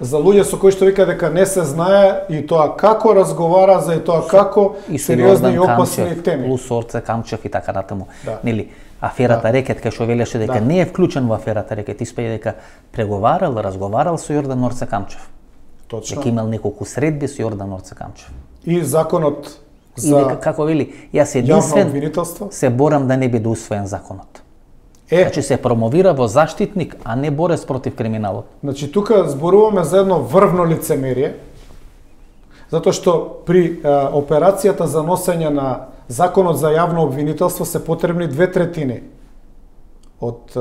за луѓе со кои што вика дека не се знае и тоа како разговара за и тоа како сериозни и опасни теми. Плюс Орце Камчев и така натаму. Да. Нели, аферата Рекет кај што велеше дека не е вклучен во аферата Рекет, испеја дека преговарал, разговарал со Јордан Орце Камчев. Точно. Дека имал неколку средби со Јордан Орце Камчев. И законот за и дека, како вели, јас единствен се борам да не биде усвоен законот. Значи се промовира во заштитник, а не борец против криминалот. Значи тука зборуваме за едно врвно лицемерие, затоа што при операцијата за носење на законот за јавно обвинителство се потребни 2/3 од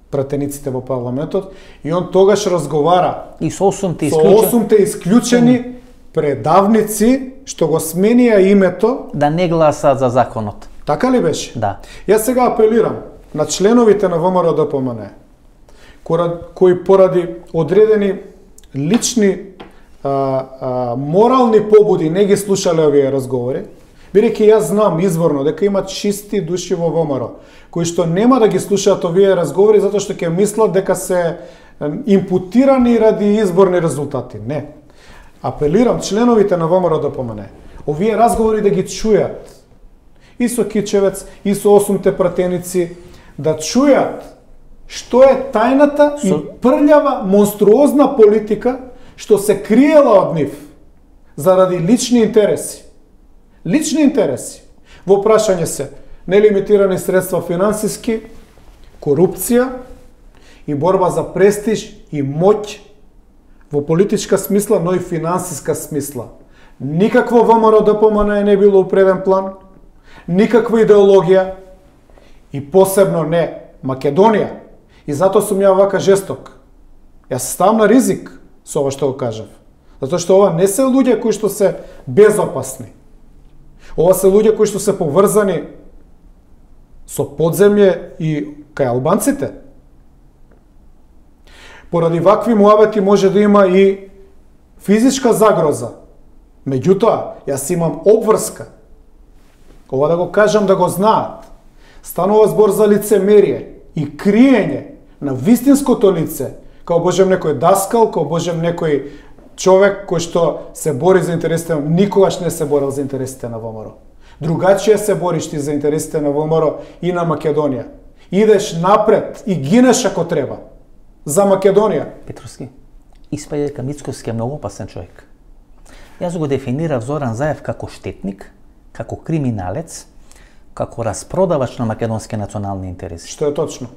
пратениците во парламентот и он тогаш разговара и со 8-те исклучени предавници што го сменија името да не гласаат за законот. Така ли беше? Да. Јас сега апелирам на членовите на ВМРО-ДПМН, кои поради одредени лични морални побуди не ги слушале овие разговори, бидејќи јас знам изворно дека има чисти души во ВМРО, кои што нема да ги слушаат овие разговори затоа што ќе мислат дека се импутирани ради изборни резултати. Не. Апелирам членовите на ВМРО-ДПМН, овие разговори да ги чујат и со Кичевец, и со 8-те пратеници, да чујат што е тајната и прљава, монструозна политика што се криела од нив заради лични интереси. Лични интереси. Во прашање се нелимитирани средства финансиски, корупција и борба за престиж и моќ во политичка смисла, но и финансиска смисла. Никакво ВМРО-ДПМН не било у преден план, никаква идеологија и посебно не Македонија. И затоа сум ја вака жесток. Јас ставам на ризик со ова што го кажав. Затоа што ова не се луѓе кои што се безопасни. Ова се луѓе кои што се поврзани со подземје и кај албанците. Поради вакви муабети може да има и физичка загроза. Меѓутоа, јас имам обврска. Ова да го кажам да го знаат. Станува збор за лицемерие и криење на вистинското лице, као божем некој даскал, као божем некој човек кој што се бори за интересите, никогаш не се борил за интересите на ВМРО. Другачија се бориш ти за интересите на ВМРО и на Македонија. Идеш напред и гинеш ако треба. За Македонија. Петровски, испаѓа дека Мицкоски е многу опасен човек. Јас го дефинирав Зоран Заев како штетник, како криминалец, како распродавач на македонски национални интереси. Што е точно?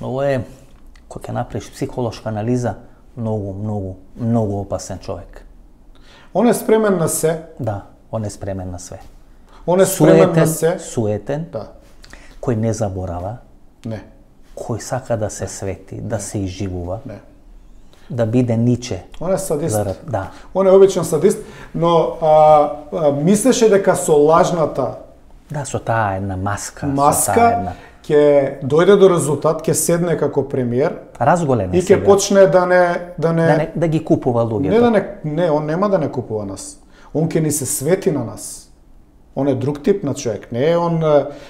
Ово е, кој ќе направиш психолошка анализа, многу опасен човек. Он е спремен на се. Да, он е спремен на све. Он е спремен на се. Суетен, Да. кој не заборава, Не. кој сака да се свети, да се изживува, Не. да биде ниче. Он е садист. Да. Он е обичен садист, но мислеше дека со лажната Да, со таа една маска, маска ќе дојде до резултат, ќе седне како премиер разголеме и ќе почне да ги купува луѓето. Он нема да не купува нас. Он ќе ни се свети на нас. Он е друг тип на човек.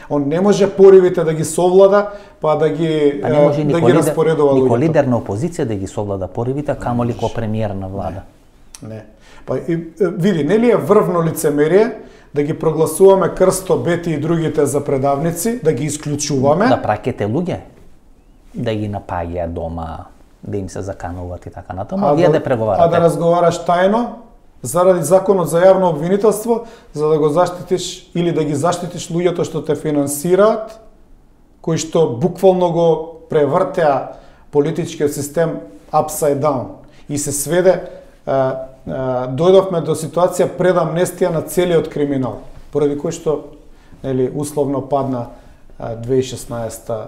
Он не може поривите да ги совлада, па да ги распоредува луѓето. Никој лидер на опозиција да ги совлада поривите, камоли ко премиер на влада. Не. Па види, нели е врвно лицемерие да ги прогласуваме Крсто, Бети и другите за предавници, да ги исклучуваме. Да праќате луѓе, да ги напаѓаат дома, да им се закануваат и така натаму, а вие да преговарате. А да разговараш тајно, заради законот за јавно обвинителство, за да го заштитиш или да ги заштитиш луѓето што те финансираат, кои што буквално го превртеа политичкиот систем upside down и се сведе, дојдовме до ситуација пред амнестија на целиот криминал, поради кој што условно падна 2016-2017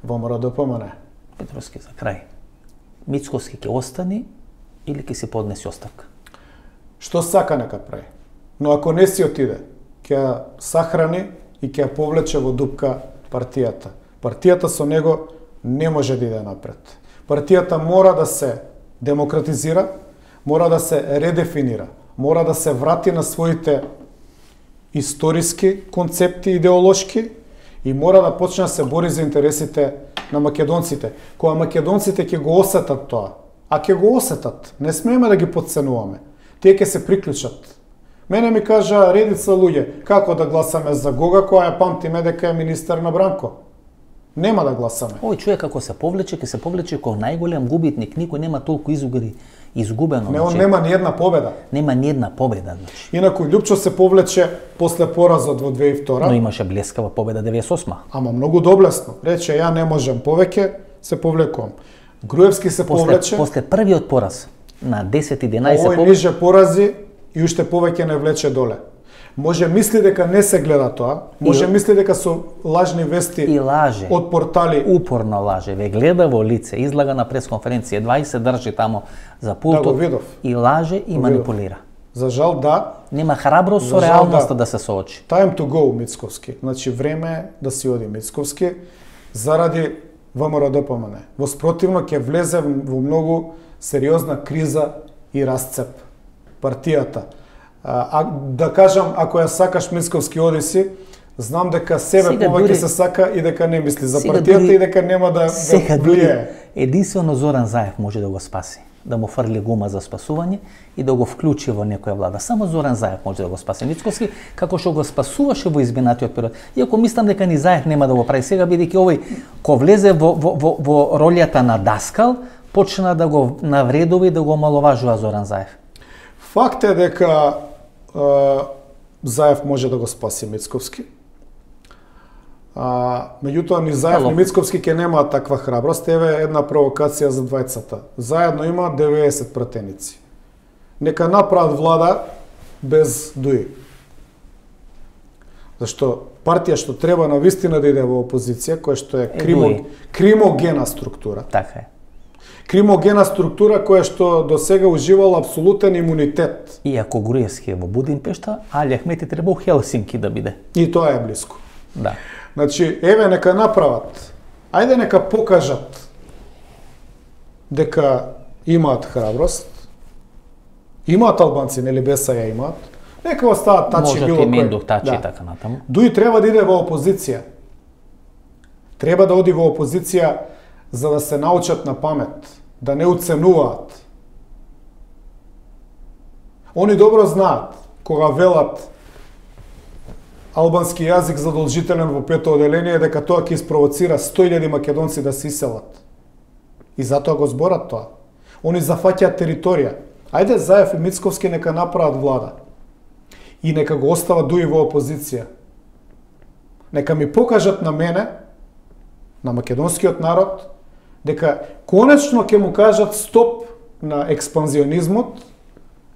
во ВМРО-ДПМН. Петровски, за крај. Мицкоски ќе остани или ќе си поднеси оставка? Што сака нека прави. Но ако не си отиде, ќе сахрани и ќе повлече во дупка партијата. Партијата со него не може да иде напред. Партијата мора да се демократизира, мора да се редефинира, мора да се врати на своите историски концепти идеолошки и мора да почне да се бори за интересите на македонците. Кога македонците ќе го осетат тоа, а ќе го осетат, не смееме да ги подценуваме. Тие ќе се приклучат. Мене ми кажа редица луѓе, како да гласаме за Гога, која ја памтиме дека е министер на Бранко. Нема да гласаме. Овој човек како се повлече, ќе се повлече како најголем губитник, никој нема толку изгубено. Не, он нема ни една победа. Нема ни една победа, значи. Инаку Љупчо се повлече после поразот во 2002. Но имаше блескава победа 98. Ама многу доблесно. Рече ја не можам повеќе, се повлекувам. Груевски се повлече. После првиот пораз на 10-11 овој ниже порази и уште повеќе не влече доле. Може мисли дека не се гледа тоа, може мисли дека со лажни вести и лаже од портали упорно лаже, ве гледа во лице, излага на пресконференција, 20 држи тамо за пултот да и лаже и манипулира. За жал да. Нема храброст со реалноста да се соочи. Time to go, Мицковски. Значи време е да си оди Мицковски заради ВМРО-ДПМН. Во спротивно ќе влезе во многу сериозна криза и расцеп партијата. Да кажам, ако ја сакаш Мицковски, оди си, знам дека себе повеќе се сака и дека не мисли за партијата и дека нема да влие. Единствено Зоран Заев може да го спаси, да му фрли гума за спасување и да го вклучи во некоја влада. Само Зоран Заев може да го спаси Мицковски, како што го спасуваше во изминатиот период. Иако мислам дека ни Заев нема да го прави сега, бидејќи овој ко влезе во ролјата на даскал, почна да го навредува и да го омаловажува Зоран Заев. Факт е дека Заев може да го спаси Мицковски. Меѓутоа ни Заев ни Мицковски ќе немаат таква храброст. Еве една провокација за двајцата. Заедно има 90 пратеници. Нека направат влада без ДУИ. Зашто партија што треба на вистина да иде во опозиција, која што е кримогена структура. Така е. Кримогена структура која што до сега уживала апсолутен имунитет. Иако Груевски е во Будимпешта, Али Ахмети треба у Хелсинки да биде. И тоа е блиску. Да. Значи, еве нека направат. Ајде нека покажат дека имаат храброст. Имаат албанци, нели без ја имаат. Нека остават Тачи било кој. Може Мендух, Тачи и така натаму. Дуи треба да иде во опозиција. Треба да оди во опозиција за да се научат на памет, да не уценуваат. Они добро знаат кога велат албански јазик задолжителен во пето оделение, дека тоа ќе испровоцира 100.000 македонци да се иселат. И затоа го зборат тоа. Они зафаќаат територија. Ајде Заев и Мицковски нека направат влада. И нека го остават Дуи во опозиција. Нека ми покажат на мене, на македонскиот народ, дека конечно ќе му кажат стоп на експанзионизмот,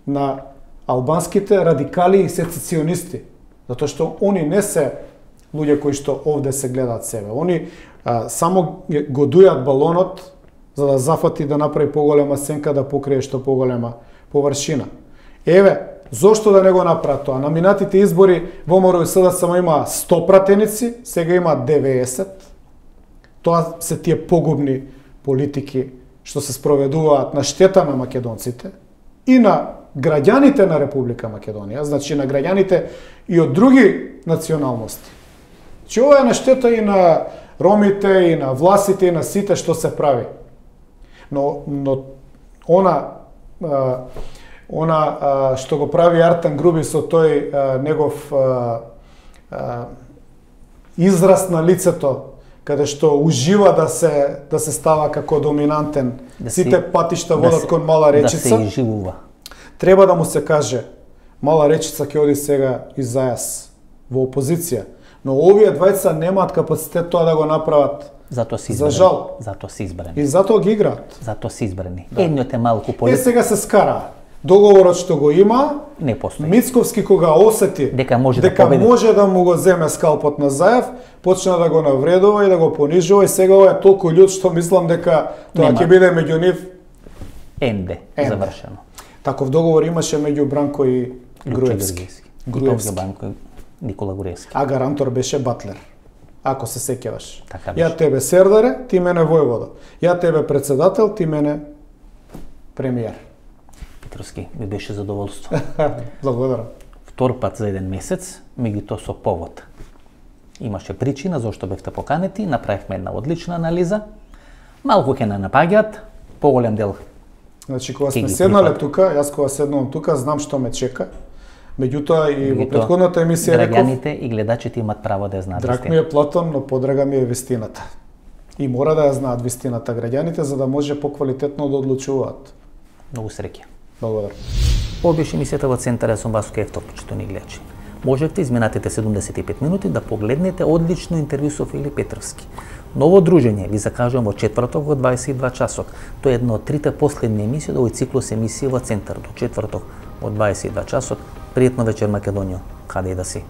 на албанските радикали и сецесионисти. Затоа што они не се луѓе кои што овде се гледаат себе. Они само го дујат балонот за да зафати да направи поголема сенка, да покрие што поголема површина. Еве, зошто да не го направат тоа? На минатите избори ВМРО и СДСМ има 100 пратеници, сега има 90. Тоа се тие погубни политики што се спроведуваат на штета на македонците и на граѓаните на Република Македонија, значи на граѓаните и од други националности. Че ова е на штета и на ромите, и на власите, и на сите што се прави. Но она што го прави Артан Груби со тој негов израз на лицето, каде што ужива да се става како доминантен, сите патишта водат кон Мала Речица. Да се изживува. Треба да му се каже, Мала Речица ќе оди сега и Зајас во опозиција, но овие двајца немаат капацитет тоа да го направат. Затоа се избрани. За жал. Затоа се избрани. И затоа ги играат. Затоа се избрани. Да. Едниот е малку сега се скара. Договорот што го има, не постои. Мицковски кога осети дека може да му го земе скалпот на Заев, почна да го навредува и да го понижува и сега ова е толку људ што мислам дека тоа ќе биде меѓу нив енде завршено. Таков договор имаше меѓу Бранко и Груевски. Бранко и Никола Груевски. А гарантор беше Батлер. Ако се сеќаваш. Така ја тебе Сердаре, ти мене војвода. Ја тебе председател, ти мене премиер. Петровски, ми беше задоволство. Благодарам. Втор пат за еден месец, меѓутоа со повод. Имаше причина зашто бевте поканети, направивме една одлична анализа. Малку ќе не напаѓаат, поголем дел. Значи кога сме седнале тука, јас кога седнувам тука, знам што ме чека. Меѓутоа и во претходната емисија реков, граѓаните и гледачите имат право да ја знаат вистината. Драг ми е Платон, но подрага ми е вистината. И мора да ја знаат вистината граѓаните за да може поквалитетно да одлучуваат. Многу среќа. Благодарам. Ова беше емисијата во Центарот со Васко Евтов, почитувани гледачи. Можете изминатите 75 минути да погледнете одлично интервју со Филип Петровски. Ново дружење ви закажувам во четврток во 22 часот. Тоа е едно од трите последни емисии од овој циклус емисии во Центар до четврток во 22 часот. Пријатно вечер Македонија, каде и да си.